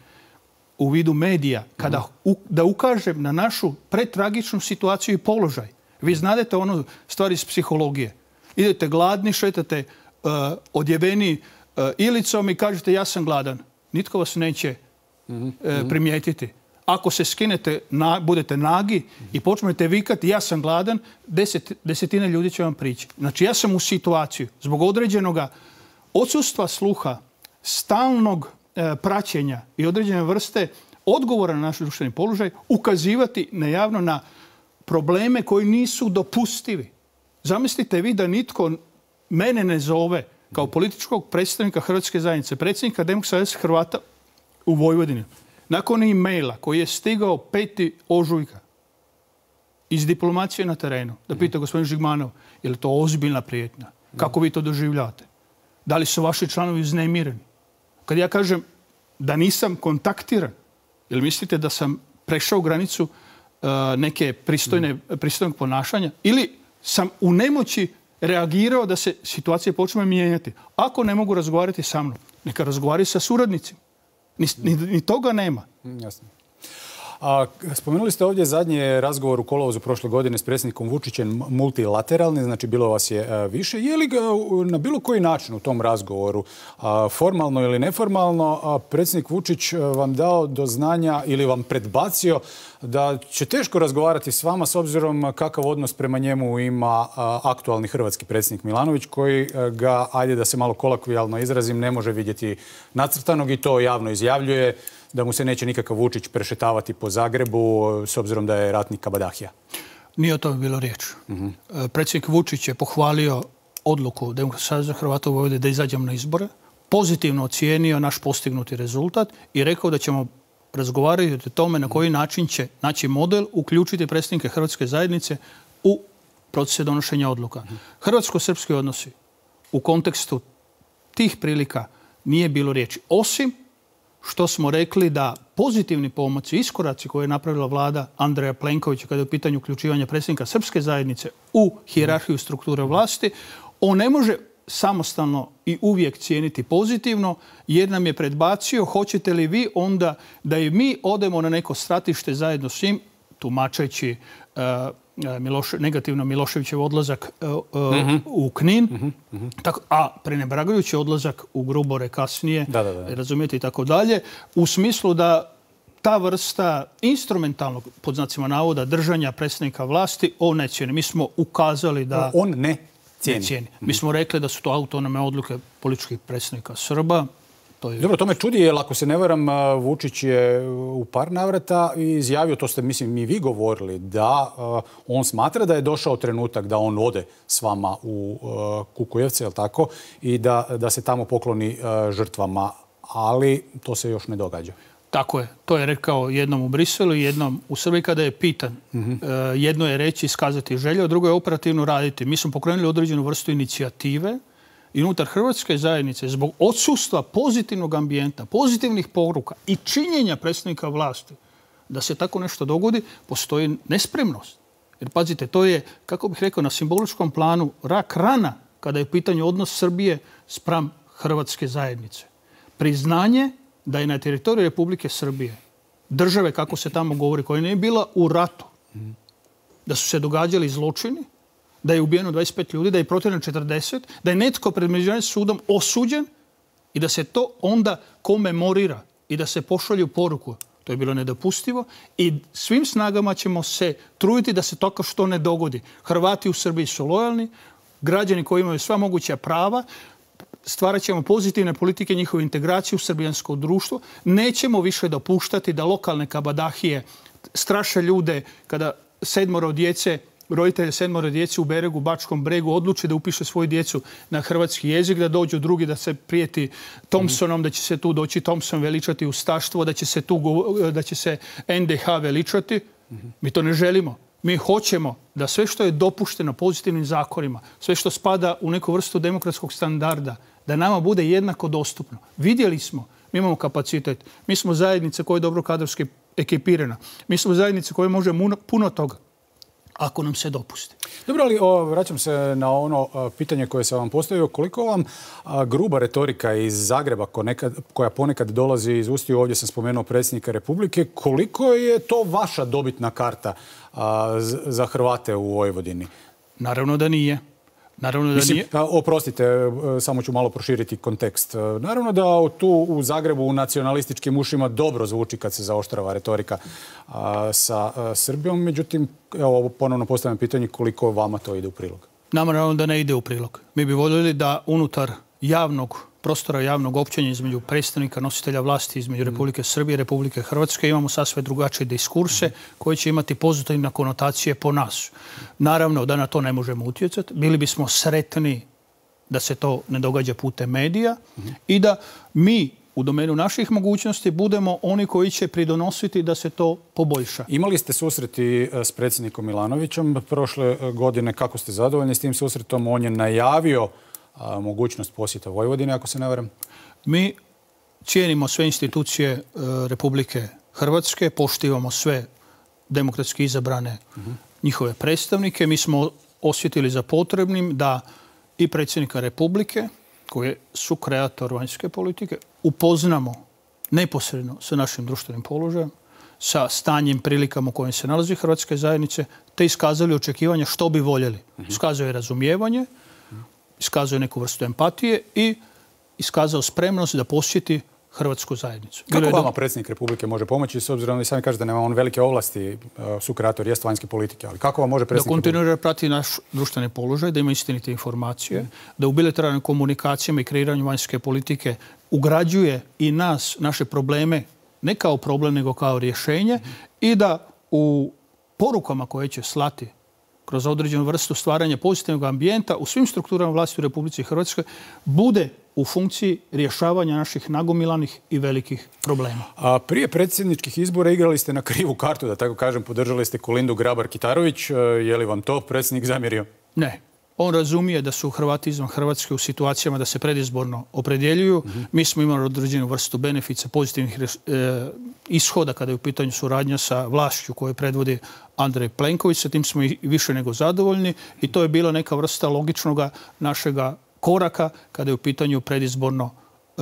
u vidu medija kada mm. u, da ukažem na našu pretragičnu situaciju i položaj. Vi znadete ono stvari iz psihologije. Idete gladni, šetate uh, odjeveni uh, ilicom i kažete ja sam gladan. Nitko vas neće mm-hmm. uh, primijetiti. Ako se skinete, na, budete nagi i počnete vikati ja sam gladan, deset, desetine ljudi će vam prići. Znači ja sam u situaciju zbog određenog odsustva sluha, stalnog e, praćenja i određene vrste odgovora na naš društveni položaj, ukazivati najavno na probleme koji nisu dopustivi. Zamislite vi da nitko mene ne zove kao političkog predstavnika Hrvatske zajednice, predsjednika Demokratskog saveza Hrvata u Vojvodini. Nakon e-maila koji je stigao peti ožujka iz diplomacije na terenu, da pita gospodin Žigmanov, je li to ozbiljna prijetnja? Kako vi to doživljate? Da li su vaši članovi uznemireni? Kad ja kažem da nisam kontaktiran, jel mislite da sam prešao granicu uh, neke pristojne, pristojnog ponašanja? Ili sam u nemoći reagirao da se situacija počne mijenjati? Ako ne mogu razgovarati sa mnom, neka razgovaraju sa suradnicima. Ni, ni, ni toga nema. Jasno. A, spomenuli ste ovdje zadnji razgovor u kolovozu prošle godine s predsjednikom Vučićem multilateralni, znači bilo vas je a, više. Je li ga na bilo koji način u tom razgovoru, a, formalno ili neformalno, a, predsjednik Vučić vam dao do znanja ili vam predbacio da će teško razgovarati s vama s obzirom kakav odnos prema njemu ima a, aktualni hrvatski predsjednik Milanović, koji a, ga, ajde da se malo kolokvijalno izrazim, ne može vidjeti nacrtanog i to javno izjavljuje, da mu se neće nikakav Vučić prešetavati po Zagrebu s obzirom da je ratnik kabadahija? Nije o tome bilo riječ. Uh-huh. Predsjednik Vučić je pohvalio odluku Demokratskog saveza Hrvata u Vojvodini da izađemo na izbore, pozitivno ocijenio naš postignuti rezultat i rekao da ćemo razgovarati o tome na koji način će naći model, uključiti predstavnike Hrvatske zajednice u procese donošenja odluka. Uh-huh. Hrvatsko-srpski odnosi u kontekstu tih prilika nije bilo riječi, osim što smo rekli da pozitivni pomoći, iskoraci koje je napravila vlada Andreja Plenkovića kada je u pitanju uključivanja predsjednika Srpske zajednice u hijerarhiju strukture vlasti, on ne može samostalno i uvijek cijeniti pozitivno, jer nam je predbacio hoćete li vi onda da i mi odemo na neko stratište zajedno s njim, tumačeći uh, Miloš, negativno Miloševićev odlazak uh, uh, mm-hmm. u Knin, mm-hmm. tako, a prenebragajući odlazak u Grubore kasnije, da, da, da. razumijete i tako dalje, u smislu da ta vrsta instrumentalnog, pod znacima navoda, držanja predsjednika vlasti, on ne cijeni. Mi smo ukazali da... On ne cijeni. Ne cijeni. Mi smo rekli da su to autonome odluke političkih predsjednika Srba. To je... Dobro, to me čudi, jer ako se ne varam, Vučić je u par navrata izjavio, to ste, mislim, i vi govorili, da uh, on smatra da je došao trenutak da on ode s vama u uh, Kukujevce, je li tako, i da, da se tamo pokloni uh, žrtvama, ali to se još ne događa. Tako je. To je rekao jednom u Briselu i jednom u Srbiji kada je pitan. Mm-hmm. Uh, jedno je reći, iskazati želju, a drugo je operativno raditi. Mi smo pokrenuli određenu vrstu inicijative i unutar Hrvatske zajednice zbog odsustva pozitivnog ambijenta, pozitivnih poruka i činjenja predsjednika vlasti da se tako nešto dogodi, postoji nespremnost. Jer pazite, to je, kako bih rekao, na simboličkom planu rak rana kada je u pitanju odnos Srbije spram Hrvatske zajednice. Priznanje da je na teritoriju Republike Srbije, države, kako se tamo govori, koja nije bila u ratu, da su se događali zločini, da je ubijeno dvadeset pet ljudi, da je protjerano četrdeset, da je netko pred međunarodnim sudom osuđen i da se to onda komemorira i da se pošalju poruku. To je bilo nedopustivo i svim snagama ćemo se truditi da se tako što ne dogodi. Hrvati u Srbiji su lojalni, građani koji imaju sva moguća prava, stvarat ćemo pozitivne politike, njihovu integraciju u srbijansko društvo. Nećemo više dopuštati da lokalne kabadahije straše ljude kada sedmoro djece, roditelje sedmoro djece u Beregu, Bačkom Bregu odluče da upiše svoju djecu na hrvatski jezik, da dođu drugi da se prijeti Thompsonom, da će se tu doći Thompson veličati ustaštvo, da će se tu da će se en de ha veličati. Mi to ne želimo. Mi hoćemo da sve što je dopušteno pozitivnim zakonima, sve što spada u neku vrstu demokratskog standarda, da nama bude jednako dostupno. Vidjeli smo, mi imamo kapacitet, mi smo zajednica koja je dobro kadrovski ekipirana, mi smo zajednica koja može puno toga, ako nam se dopusti. Dobro, ali o, vraćam se na ono a, pitanje koje sam vam postavio. Koliko vam a, gruba retorika iz Zagreba, ko nekad, koja ponekad dolazi iz ustiju, ovdje sam spomenuo predsjednika Republike, koliko je to vaša dobitna karta a, z, za Hrvate u Vojvodini? Naravno da nije. Naravno da Mislim, nije. Oprostite, samo ću malo proširiti kontekst. Naravno da tu u Zagrebu u nacionalističkim ušima dobro zvuči kad se zaoštrava retorika a, sa a, Srbijom. Međutim, evo, ponovno postavljam pitanje koliko vama to ide u prilog. Nama naravno da ne ide u prilog. Mi bi voljeli da unutar javnog prostora, javnog općenja između predstavnika nositelja vlasti između Republike Srbije i Republike Hrvatske imamo sasve drugačije diskurse koje će imati pozitivne konotacije po nas. Naravno da na to ne možemo utjecati. Bili bismo sretni da se to ne događa putem medija i da mi u domenu naših mogućnosti budemo oni koji će pridonositi da se to poboljša. Imali ste susreti s predsjednikom Milanovićem prošle godine. Kako ste zadovoljni s tim susretom? On je najavio a, mogućnost posjeta Vojvodine, ako se ne varam. Mi cijenimo sve institucije e, Republike Hrvatske, poštivamo sve demokratski izabrane uh-huh. njihove predstavnike. Mi smo osjetili za potrebnim da i predsjednika Republike, koji je sukreator vanjske politike, upoznamo neposredno sa našim društvenim položajem, sa stanjem, prilikama u kojem se nalazi Hrvatske zajednice, te iskazali očekivanja što bi voljeli. Iskazao je razumijevanje, iskazao je neku vrstu empatije i iskazao spremnost da posjeti Hrvatsku zajednicu. Kako vama predsjednik Republike može pomoći, s obzirom da vi sami kažete da nema on velike ovlasti, sukreator jest vanjske politike, ali kako vam može predsjednik Republike? Da kontinuira prati naš društveni položaj, da ima istinite informacije, mm. da u bilateralnim komunikacijama i kreiranju vanjske politike ugrađuje i nas, naše probleme, ne kao problem, nego kao rješenje mm. i da u porukama koje će slati kroz određenu vrstu stvaranja pozitivnog ambijenta u svim strukturama vlasti u Republici Hrvatskoj bude u funkciji rješavanja naših nagomilanih i velikih problema. A prije predsjedničkih izbora igrali ste na krivu kartu, da tako kažem, podržali ste Kolindu Grabar-Kitarović. Je li vam to predsjednik zamjerio? Ne. On razumije da su Hrvati izvan Hrvatske u situacijama da se predizborno opredjeljuju. Mm-hmm. Mi smo imali određenu vrstu benefica, pozitivnih e, ishoda kada je u pitanju suradnja sa vlašću koju predvodi Andrej Plenković. Sa tim smo i više nego zadovoljni i to je bila neka vrsta logičnog našega koraka kada je u pitanju predizborno e,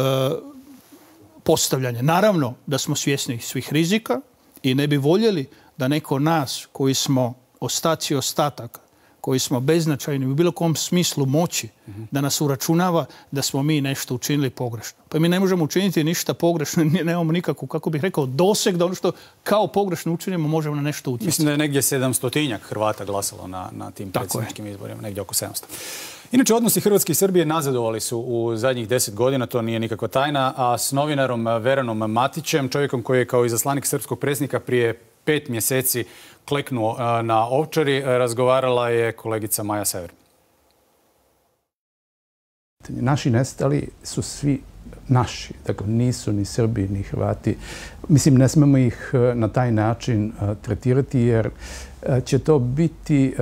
postavljanje. Naravno da smo svjesni svih rizika i ne bi voljeli da neko nas koji smo ostaci ostataka, koji smo beznačajni u bilo kom smislu moći, da nas uračunava da smo mi nešto učinili pogrešno. Pa mi ne možemo učiniti ništa pogrešno, nemamo nikakvu, kako bih rekao, doseg da ono što kao pogrešno učinimo možemo na nešto utjecati. Mislim da je negdje sedamstotinjak Hrvata glasalo na, na tim predsjedničkim izborima, negdje oko sedamsto. Inače, odnosi Hrvatske i Srbije nazadovali su u zadnjih deset godina, to nije nikakva tajna, a s novinarom Veranom Matićem, čovjekom koji je kao izaslanik srpskog predsjednika prije pet mjeseci kleknuo na Ovčari, razgovarala je kolegica Maja Sever. Naši nestali su svi naši, dakle nisu ni Srbi ni Hrvati. Mislim, ne smemo ih na taj način tretirati jer će to biti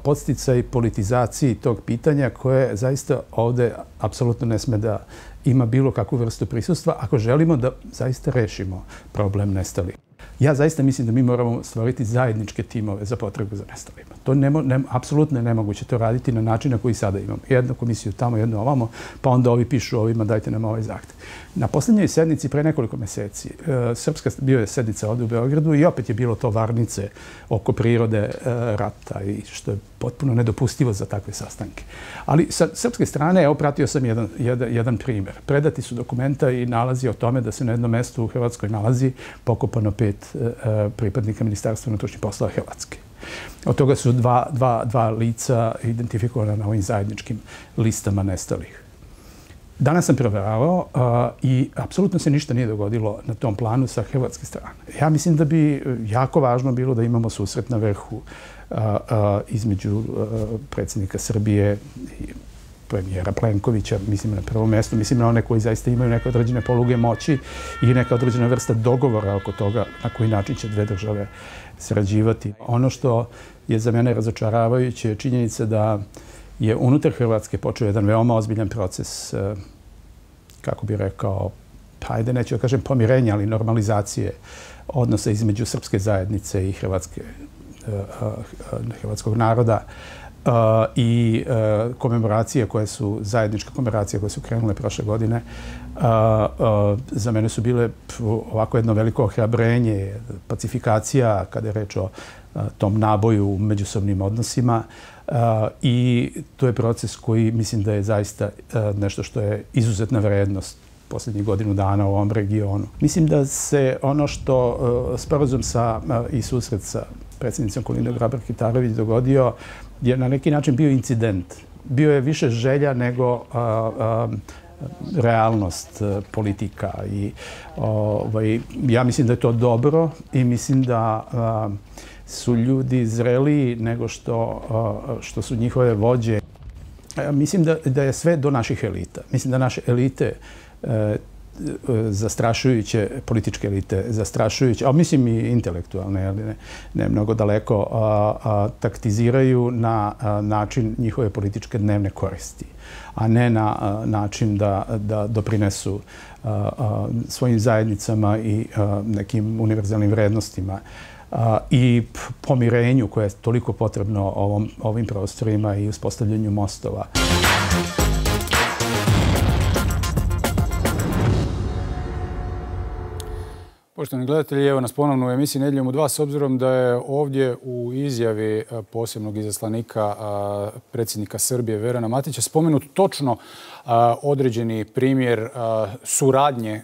podsticaj politizaciji tog pitanja koje zaista ovdje apsolutno ne sme da ima bilo kakvu vrstu prisustva ako želimo da zaista rešimo problem nestalih. Ja zaista mislim da mi moramo stvoriti zajedničke timove za potrebu za nestalima. To je nemo, ne, apsolutno je nemoguće to raditi na način na koji sada imamo. Jednu komisiju tamo, jednu ovamo, pa onda ovi pišu ovima, dajte nam ovaj zahtev. Na posljednjoj sednici pre nekoliko mjeseci, e, Srpska bio je sednica ovdje u Beogradu i opet je bilo to varnice oko prirode e, rata i što je potpuno nedopustivo za takve sastanke. Ali sa srpske strane, evo, pratio sam jedan, jedan, jedan primjer. Predati su dokumenta i nalazi o tome da se na jednom mjestu u Hrvatskoj nalazi pokopano pet e, pripadnika Ministarstva unutrašnjih poslova Hrvatske. Od toga su dva, dva, dva lica identifikovana na ovim zajedničkim listama nestalih. Danas sam provjeravao uh, i apsolutno se ništa nije dogodilo na tom planu sa hrvatske strane. Ja mislim da bi jako važno bilo da imamo susret na vrhu uh, uh, između uh, predsjednika Srbije i premijera Plenkovića, mislim na prvom mjestu, mislim na one koji zaista imaju neke određene poluge moći i neka određena vrsta dogovora oko toga na koji način će dve države sarađivati. Ono što je za mene razočaravajuće je činjenica da je unutar Hrvatske počeo jedan veoma ozbiljan proces, kako bi rekao, hajde neću da kažem pomirenja, ali normalizacije odnosa između srpske zajednice i hrvatske, hrvatskog naroda i komemoracije koje su, zajedničke komemoracije koje su krenule prošle godine, za mene su bile ovako jedno veliko ohrabrenje, pacifikacija kada je reč o tom naboju u međusobnim odnosima. Uh, i to je proces koji mislim da je zaista uh, nešto što je izuzetna vrednost posljednjih godinu dana u ovom regionu. Mislim da se ono što uh, sporazum sa uh, i susret sa predsjednicom Kolindom Grabar-Kitarović dogodio je na neki način bio incident. Bio je više želja nego uh, uh, realnost uh, politika i uh, ja mislim da je to dobro i mislim da uh, su ljudi zreliji nego što, što su njihove vođe. Mislim da, da je sve do naših elita. Mislim da naše elite e, zastrašujuće političke elite, zastrašujuće, a mislim i intelektualne, ali ne, ne mnogo daleko, a, a, taktiziraju na a, način njihove političke dnevne koristi, a ne na a, način da, da doprinesu a, a, svojim zajednicama i a, nekim univerzalnim vrednostima a, i pomirenju koje je toliko potrebno ovom, ovim prostorima i uspostavljanju mostova. Poštovani gledatelji, evo nas ponovno u emisiji Nedjeljom u dva, s obzirom da je ovdje u izjavi posebnog izaslanika predsjednika Srbije Verana Matića spomenut točno određeni primjer suradnje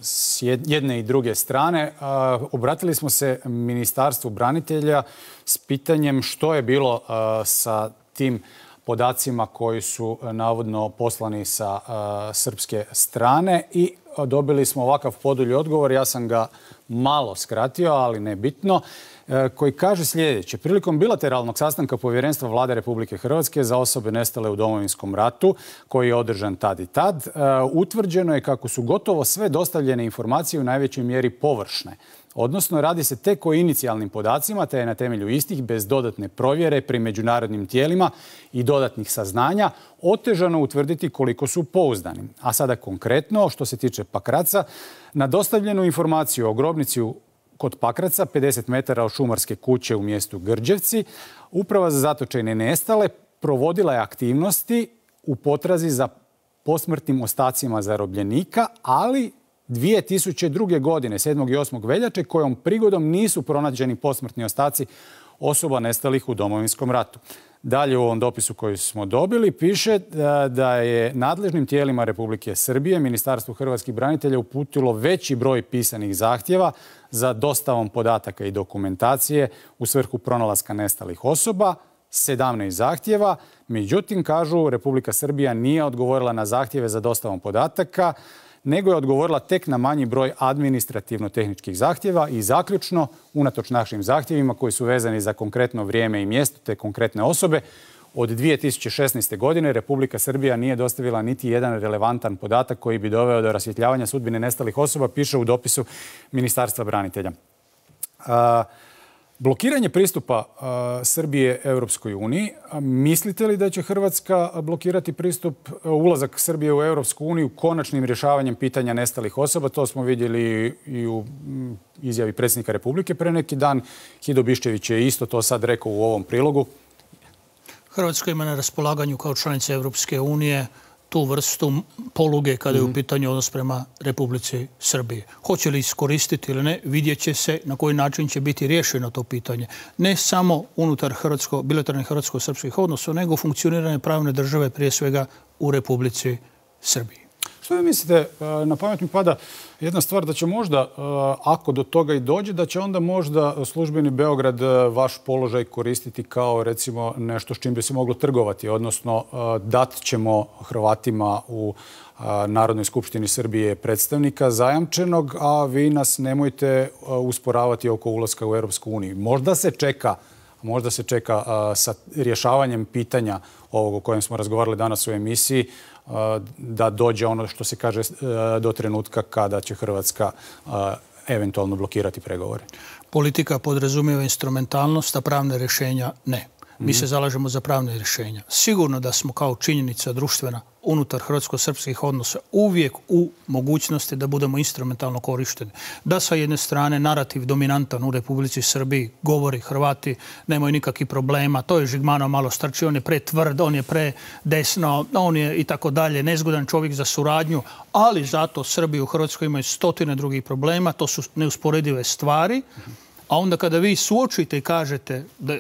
s jedne i druge strane. Obratili smo se Ministarstvu branitelja s pitanjem što je bilo sa tim podacima koji su navodno poslani sa srpske strane i dobili smo ovakav podulji odgovor. Ja sam ga malo skratio, ali ne bitno, koji kaže sljedeće. Prilikom bilateralnog sastanka Povjerenstva Vlade Republike Hrvatske za osobe nestale u Domovinskom ratu, koji je održan tad i tad, utvrđeno je kako su gotovo sve dostavljene informacije u najvećoj mjeri površne. Odnosno, radi se tek o inicijalnim podacima, te je na temelju istih, bez dodatne provjere pri međunarodnim tijelima i dodatnih saznanja, otežano utvrditi koliko su pouzdani. A sada konkretno, što se tiče Pakraca, na dostavljenu informaciju o grobnici kod Pakraca, pedeset metara od šumarske kuće u mjestu Grđevci, Uprava za zatočene i nestale provodila je aktivnosti u potrazi za posmrtnim ostacima zarobljenika, ali dvije tisuće druge. godine, sedmog i osmog veljače, kojom prigodom nisu pronađeni posmrtni ostaci osoba nestalih u Domovinskom ratu. Dalje u ovom dopisu koji smo dobili piše da je nadležnim tijelima Republike Srbije Ministarstvo hrvatskih branitelja uputilo veći broj pisanih zahtjeva za dostavom podataka i dokumentacije u svrhu pronalaska nestalih osoba, sedamnaest zahtjeva. Međutim, kažu, Republika Srbija nije odgovorila na zahtjeve za dostavom podataka, nego je odgovorila tek na manji broj administrativno-tehničkih zahtjeva i zaključno, unatoč našim zahtjevima koji su vezani za konkretno vrijeme i mjesto te konkretne osobe, od dvije tisuće šesnaeste. godine Republika Srbija nije dostavila niti jedan relevantan podatak koji bi doveo do rasvjetljavanja sudbine nestalih osoba, piše u dopisu Ministarstva branitelja. A, Blokiranje pristupa Srbije Europskoj uniji. Mislite li da će Hrvatska blokirati pristup, ulazak Srbije u Europsku uniju konačnim rješavanjem pitanja nestalih osoba? To smo vidjeli i u izjavi predsjednika Republike pre neki dan. Hido Biščević je isto to sad rekao u ovom prilogu. Hrvatska ima na raspolaganju kao članica Europske unije tu vrstu poluge kada je u pitanju odnos prema Republici Srbije. Hoće li iskoristiti ili ne, vidjet će se na koji način će biti riješeno to pitanje. Ne samo unutar hrvatsko, bilateralnih hrvatsko-srpskih odnosa, nego funkcioniranje pravne države prije svega u Republici Srbiji. Što vi mislite, na pamet mi pada jedna stvar da će možda, ako do toga i dođe, da će onda možda službeni Beograd vaš položaj koristiti kao recimo nešto s čim bi se moglo trgovati, odnosno dat ćemo Hrvatima u Narodnoj skupštini Srbije predstavnika zajamčenog, a vi nas nemojte usporavati oko ulaska u Europsku uniju. Možda se čeka Možda se čeka sa rješavanjem pitanja ovog o kojem smo razgovarali danas u emisiji, da dođe ono što se kaže do trenutka kada će Hrvatska eventualno blokirati pregovore. Politika podrazumijeva instrumentalnost, a pravne rješenja ne. Mi se zalažemo za pravne rješenja. Sigurno da smo kao činjenica društvena unutar hrvatsko-srpskih odnosa uvijek u mogućnosti da budemo instrumentalno korišteni. Da sa jedne strane narativ dominantan u Republici Srbiji govori Hrvati nemaju nikakvih problema, to je Žigmanov malo strči, on je pre tvrd, on je pre desno, on je i tako dalje, nezgodan čovjek za suradnju, ali zato Srbi u Hrvatskoj imaju stotine drugih problema, to su neusporedive stvari, a onda kada vi suočite i kažete da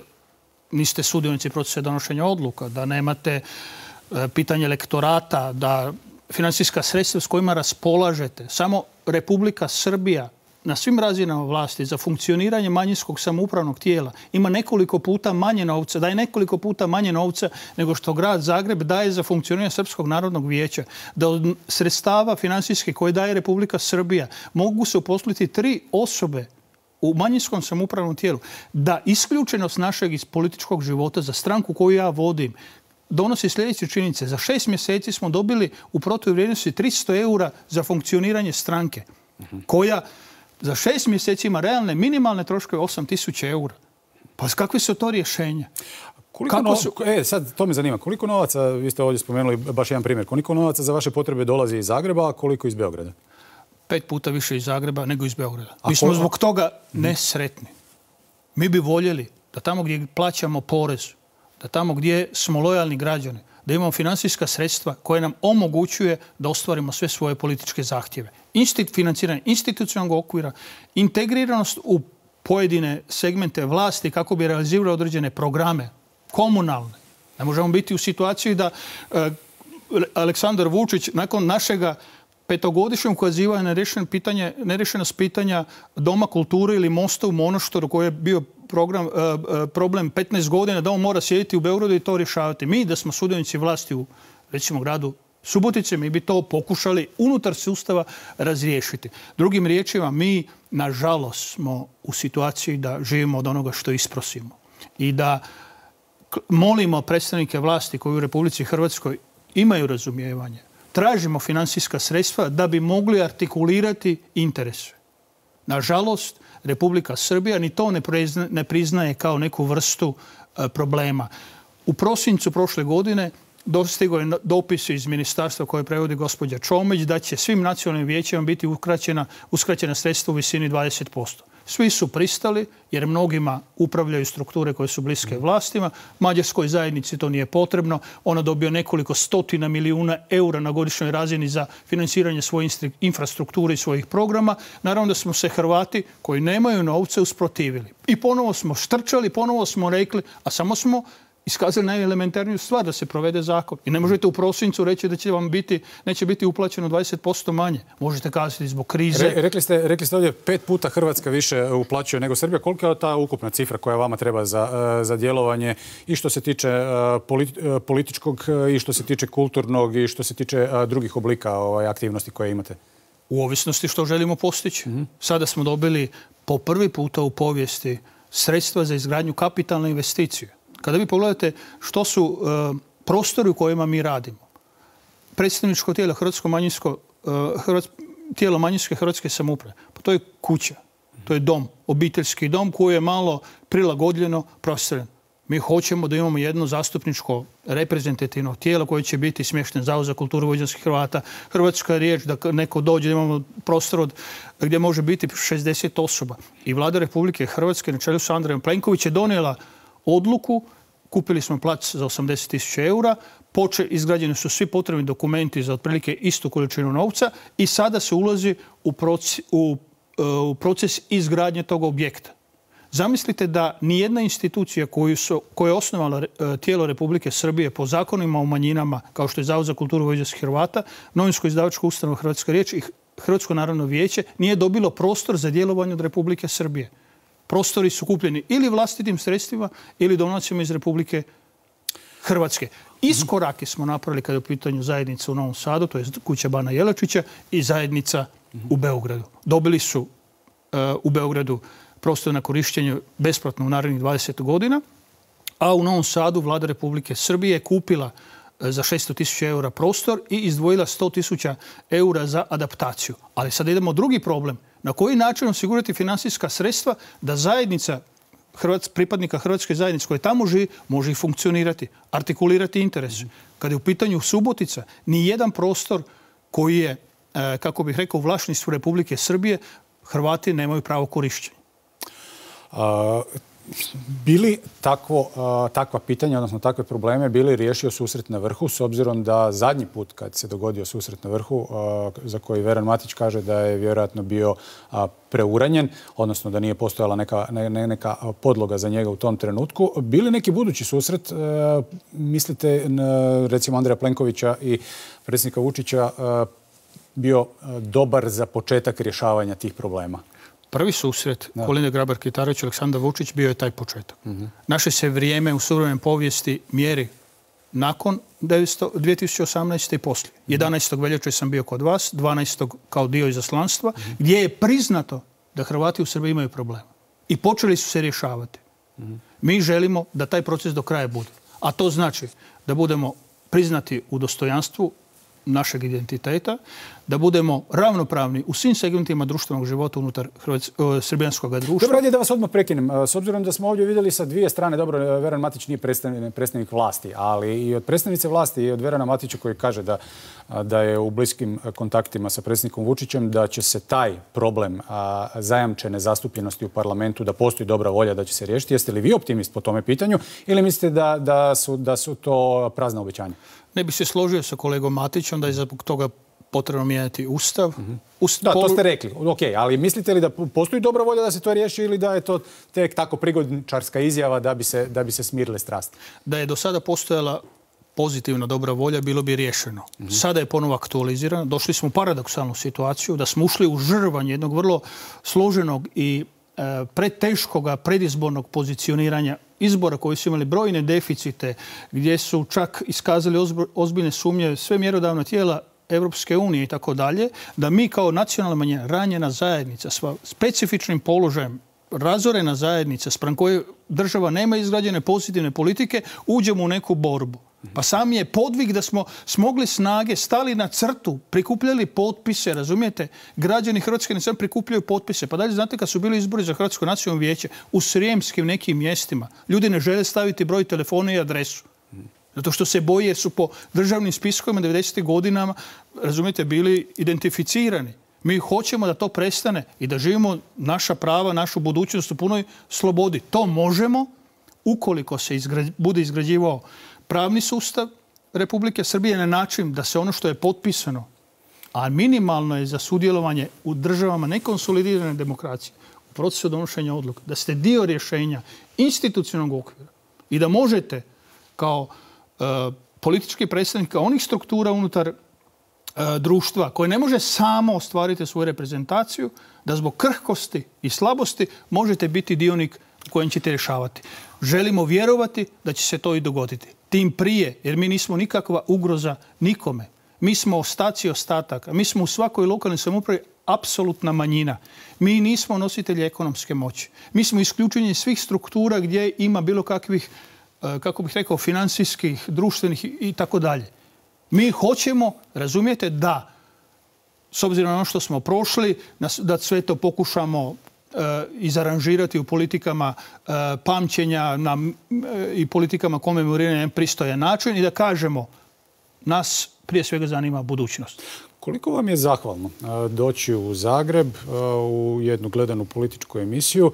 niste sudionici procesa donošenja odluka, da nemate pitanje elektorata, da finansijska sredstva s kojima raspolažete, samo Republika Srbija na svim razinama vlasti za funkcioniranje manjinskog samoupravnog tijela ima nekoliko puta manje novca, daje nekoliko puta manje novca nego što grad Zagreb daje za funkcioniranje Srpskog narodnog vijeća. Da od sredstava finansijskih koje daje Republika Srbija mogu se uposliti tri osobe u manjinskom samoupravnom tijelu, da isključenost našeg iz političkog života za stranku koju ja vodim donosi sljedeće činjenice. Za šest mjeseci smo dobili u protuvrijednosti tristo eura za funkcioniranje stranke, koja za šest mjeseci ima realne minimalne troškove osam tisuća eura. Pa kakve su to rješenja? Koliko no... su... E, sad to me zanima. Koliko novaca, vi ste ovdje spomenuli baš jedan primjer, koliko novaca za vaše potrebe dolazi iz Zagreba, a koliko iz Beograda? Pet puta više iz Zagreba nego iz Beograda. Mi smo zbog toga nesretni. Mi bi voljeli da tamo gdje plaćamo porez, da tamo gdje smo lojalni građani, da imamo financijska sredstva koje nam omogućuje da ostvarimo sve svoje političke zahtjeve. Instit, financiranje institucionalnog okvira, integriranost u pojedine segmente vlasti kako bi realizirali određene programe, komunalne. Ne možemo biti u situaciji da e, Aleksandar Vučić nakon našega petogodišnjeg ukazivanja na pitanje, nerešenost pitanja Doma kulture ili mosta u Monoštoru koji je bio program, e, problem petnaest godina, da on mora sjediti u Beogradu i to rješavati. Mi da smo sudionici vlasti u recimo gradu Subotice, mi bi to pokušali unutar sustava razriješiti. Drugim riječima, mi nažalost smo u situaciji da živimo od onoga što isprosimo i da molimo predstavnike vlasti koji u Republici Hrvatskoj imaju razumijevanje, tražimo financijska sredstva da bi mogli artikulirati interese. Nažalost, Republika Srbija ni to ne priznaje kao neku vrstu problema. U prosincu prošle godine dostigao je dopis iz ministarstva koje prevodi gospođa Čomić da će svim nacionalnim vijećima biti uskraćena, uskraćena sredstva u visini dvadeset posto. Svi su pristali jer mnogima upravljaju strukture koje su bliske vlastima. Mađarskoj zajednici to nije potrebno. Ona dobio nekoliko stotina milijuna eura na godišnjoj razini za financiranje svoje infrastrukture i svojih programa. Naravno da smo se Hrvati koji nemaju novce usprotivili. I ponovo smo štrčali, ponovo smo rekli, a samo smo iskazali najelementarniju stvar da se provede zakon. I ne možete u prosincu reći da će vam biti, neće biti uplaćeno dvadeset posto manje. Možete kazati zbog krize. Re, rekli, ste, rekli ste ovdje pet puta Hrvatska više uplaćuje nego Srbija. Kolika je ta ukupna cifra koja vama treba za, za djelovanje i što se tiče političkog i što se tiče kulturnog i što se tiče drugih oblika ovaj, aktivnosti koje imate? U ovisnosti što želimo postići. Mm-hmm. Sada smo dobili po prvi puta u povijesti sredstva za izgradnju kapitalne investicije. Kada vi pogledate što su uh, prostori u kojima mi radimo, predstavničko tijelo Hrvatsko manjinsko, uh, Hrvatsko, tijelo manjinske hrvatske samouprave, pa to je kuća, to je dom, obiteljski dom koji je malo prilagodljeno prostoren. Mi hoćemo da imamo jedno zastupničko reprezentativno tijelo koje će biti smješten Zavod za kulturu vojvođanskih Hrvata. Hrvatska riječ da neko dođe, da imamo prostor od, gdje može biti šezdeset osoba. I Vlada Republike Hrvatske na čelu sa Andrejom Plenković je donijela odluku, kupili smo plac za osamdeset tisuća eura, poče, izgrađeni su svi potrebni dokumenti za otprilike istu količinu novca i sada se ulazi u proces, u, u proces izgradnje tog objekta. Zamislite da nijedna institucija koju, su, koju je osnovala tijelo Republike Srbije po zakonima o manjinama, kao što je Zavod za kulturu vojvođanskih Hrvata, novinsko-izdavačko ustanova Hrvatska riječ i Hrvatsko narodno vijeće, nije dobilo prostor za djelovanje od Republike Srbije. Prostori su kupljeni ili vlastitim sredstvima ili donacijama iz Republike Hrvatske. Iskorake smo napravili kada je u pitanju zajednica u Novom Sadu, to je kuća Bana Jelačića i zajednica u Beogradu. Dobili su uh, u Beogradu prostor na korištenje besplatno u narednih dvadeset godina, a u Novom Sadu Vlada Republike Srbije je kupila uh, za šesto tisuća eura prostor i izdvojila sto tisuća eura za adaptaciju. Ali sad idemo drugi problem. Na koji način osigurati finansijska sredstva da zajednica Hrvats, pripadnika Hrvatske zajednice koje tamo živi može i funkcionirati, artikulirati interese. Kada je u pitanju Subotica, ni jedan prostor koji je, kako bih rekao, u vlasništvu Republike Srbije, Hrvati nemaju pravo korišćenja. A... Bili takvo, takva pitanja, odnosno takve probleme, bili riješio susret na vrhu, s obzirom da zadnji put kad se dogodio susret na vrhu, za koji Veran Matić kaže da je vjerojatno bio preuranjen, odnosno da nije postojala neka, ne, neka podloga za njega u tom trenutku, bili neki budući susret, mislite, recimo Andreja Plenkovića i predsjednika Vučića, bio dobar za početak rješavanja tih problema? Prvi susret Kolinde Grabar-Kitarović i Aleksandar Vučić bio je taj početak. Mm-hmm. Naše se vrijeme u suvremenoj povijesti mjeri nakon dvije tisuće osamnaeste. i poslije. Mm-hmm. jedanaestog veljače sam bio kod vas, dvanaestog kao dio izaslanstva, mm-hmm. gdje je priznato da Hrvati u Srbiji imaju problema. I počeli su se rješavati. Mm-hmm. Mi želimo da taj proces do kraja bude. A to znači da budemo priznati u dostojanstvu našeg identiteta, da budemo ravnopravni u svim segmentima društvenog života unutar srbijanskog društva. Dobro, da vas odmah prekinem. S obzirom da smo ovdje vidjeli sa dvije strane, dobro, Veran Matić nije predstavnik vlasti, ali i od predstavnice vlasti i od Verana Matića koji kaže da, da je u bliskim kontaktima sa predsjednikom Vučićem, da će se taj problem a, zajamčene zastupljenosti u parlamentu, da postoji dobra volja da će se riješiti. Jeste li vi optimist po tome pitanju ili mislite da, da, su, da su to prazna obećanja? Ne bih se složio sa kolegom Matićem da je zbog toga potrebno mijenjati Ustav. Mm-hmm. Ustav. Da, to ste rekli. Ok, ali mislite li da postoji dobra volja da se to riješi ili da je to tek tako prigodničarska izjava da bi se, da bi se smirile strasti? Da je do sada postojala pozitivna dobra volja, bilo bi riješeno. Mm-hmm. Sada je ponovo aktualizirano. Došli smo u paradoksalnu situaciju da smo ušli u žrvanje jednog vrlo složenog i e, preteškoga predizbornog pozicioniranja izbora koji su imali brojne deficite, gdje su čak iskazali ozbiljne sumnje sve mjerodavna tijela Evropske unije i tako dalje, da mi kao nacionalna manjina, ranjena zajednica, s specifičnim položajem, razorena zajednica, spram koje država nema izgrađene pozitivne politike, uđemo u neku borbu. Pa sam je podvig da smo smogli snage, stali na crtu, prikupljali potpise, razumijete? Građani Hrvatske ne samo prikupljaju potpise. Pa dalje, znate, kad su bili izbori za Hrvatsko nacionalno vijeće u srijemskim nekim mjestima, ljudi ne žele staviti broj telefona i adresu. Zato što se boje jer su po državnim spiskovima devedesetih godinama, razumijete, bili identificirani. Mi hoćemo da to prestane i da živimo naša prava, našu budućnost u punoj slobodi. To možemo ukoliko se izgra... bude izgrađivao pravni sustav Republike Srbije na način da se ono što je potpisano, a minimalno je za sudjelovanje u državama nekonsolidirane demokracije, u procesu donošenja odluka, da ste dio rješenja institucionalnog okvira i da možete kao e, politički predstavnik onih struktura unutar e, društva koje ne može samo ostvariti svoju reprezentaciju, da zbog krhkosti i slabosti možete biti dionik u kojem ćete rješavati. Želimo vjerovati da će se to i dogoditi. Tim prije, jer mi nismo nikakva ugroza nikome. Mi smo ostaci ostataka. Mi smo u svakoj lokalnoj samoupravi apsolutna manjina. Mi nismo nositelji ekonomske moći. Mi smo isključeni svih struktura gdje ima bilo kakvih, kako bih rekao, financijskih, društvenih i tako dalje. Mi hoćemo, razumijete, da, s obzirom na ono što smo prošli, da sve to pokušamo izaranžirati u politikama pamćenja na, i politikama komemoriranja na pristojan način i da kažemo nas prije svega zanima budućnost. Koliko vam je zahvalno doći u Zagreb u jednu gledanu političku emisiju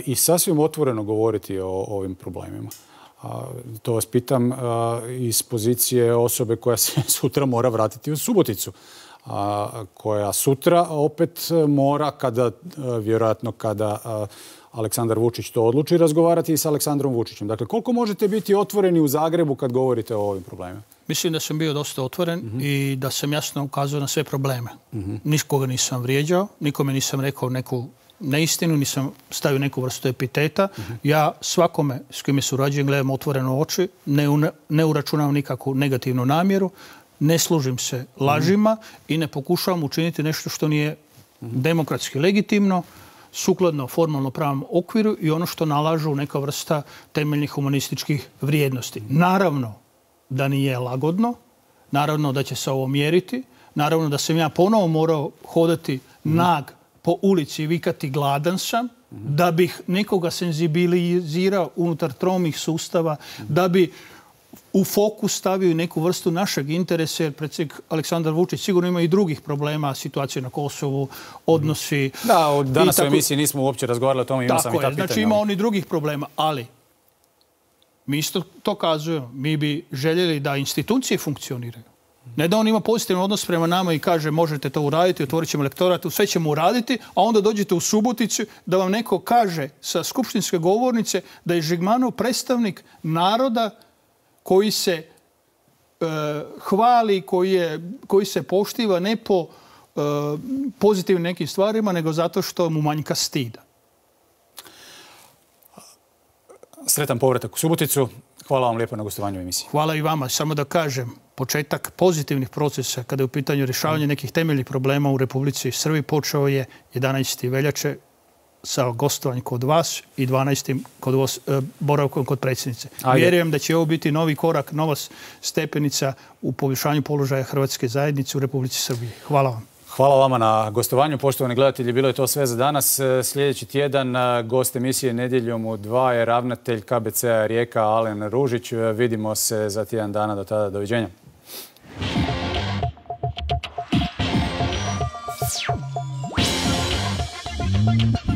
i sasvim otvoreno govoriti o ovim problemima? To vas pitam iz pozicije osobe koja se sutra mora vratiti u Suboticu, koja sutra opet mora, kada, vjerojatno kada Aleksandar Vučić to odluči, razgovarati i s Aleksandrom Vučićem. Dakle, koliko možete biti otvoreni u Zagrebu kad govorite o ovim problemima? Mislim da sam bio dosta otvoren mm-hmm. i da sam jasno ukazao na sve probleme. Mm-hmm. Nikoga nisam vrijeđao, nikome nisam rekao neku neistinu, nisam stavio neku vrstu epiteta. Mm-hmm. Ja svakome s kime surađujem gledam otvoreno oči, ne, u, ne uračunavam nikakvu negativnu namjeru, ne služim se lažima mm-hmm. i ne pokušavam učiniti nešto što nije mm-hmm. demokratski legitimno, sukladno formalno pravnom okviru i ono što nalažu neka vrsta temeljnih humanističkih vrijednosti. Naravno da nije lagodno, naravno da će se ovo mjeriti, naravno da sam ja ponovo morao hodati mm-hmm. nag po ulici i vikati gladan sam, mm-hmm. da bih nekoga senzibilizirao unutar tromih sustava, mm-hmm. da bi u fokus stavio neku vrstu našeg interesa, jer predsjednik Aleksandar Vučić sigurno ima i drugih problema, situacije na Kosovu, odnosi... Da, danas u emisiji nismo uopće razgovarali o tome, imao sam i ta pitanja. Znači ima on i drugih problema, ali mi isto to kazujemo. Mi bi željeli da institucije funkcioniraju. Ne da on ima pozitivan odnos prema nama i kaže možete to uraditi, otvorit ćemo lektorat, sve ćemo uraditi, a onda dođete u Suboticu da vam neko kaže sa skupštinske govornice da je Žigmanov predstavnik naroda koji se e, hvali, koji, je, koji se poštiva ne po e, pozitivnim nekim stvarima, nego zato što mu manjka stida. Sretan povratak u Suboticu. Hvala vam lijepo na gostovanju u emisiji. Hvala i vama. Samo da kažem, početak pozitivnih procesa kada je u pitanju rješavanja nekih temeljnih problema u Republici Srbiji počeo je jedanaestog veljače sa gostovanjem kod vas i dvanaestim kod vas, boravkom kod predsjednice. Ajde. Vjerujem da će ovo biti novi korak, nova stepenica u poboljšanju položaja hrvatske zajednice u Republici Srbiji. Hvala vam. Hvala vama na gostovanju. Poštovani gledatelji, bilo je to sve za danas. Sljedeći tjedan gost emisije Nedjeljom u dva je ravnatelj K B C-a Rijeka Alen Ružić. Vidimo se za tjedan dana. Do tada, doviđenja. Thank you.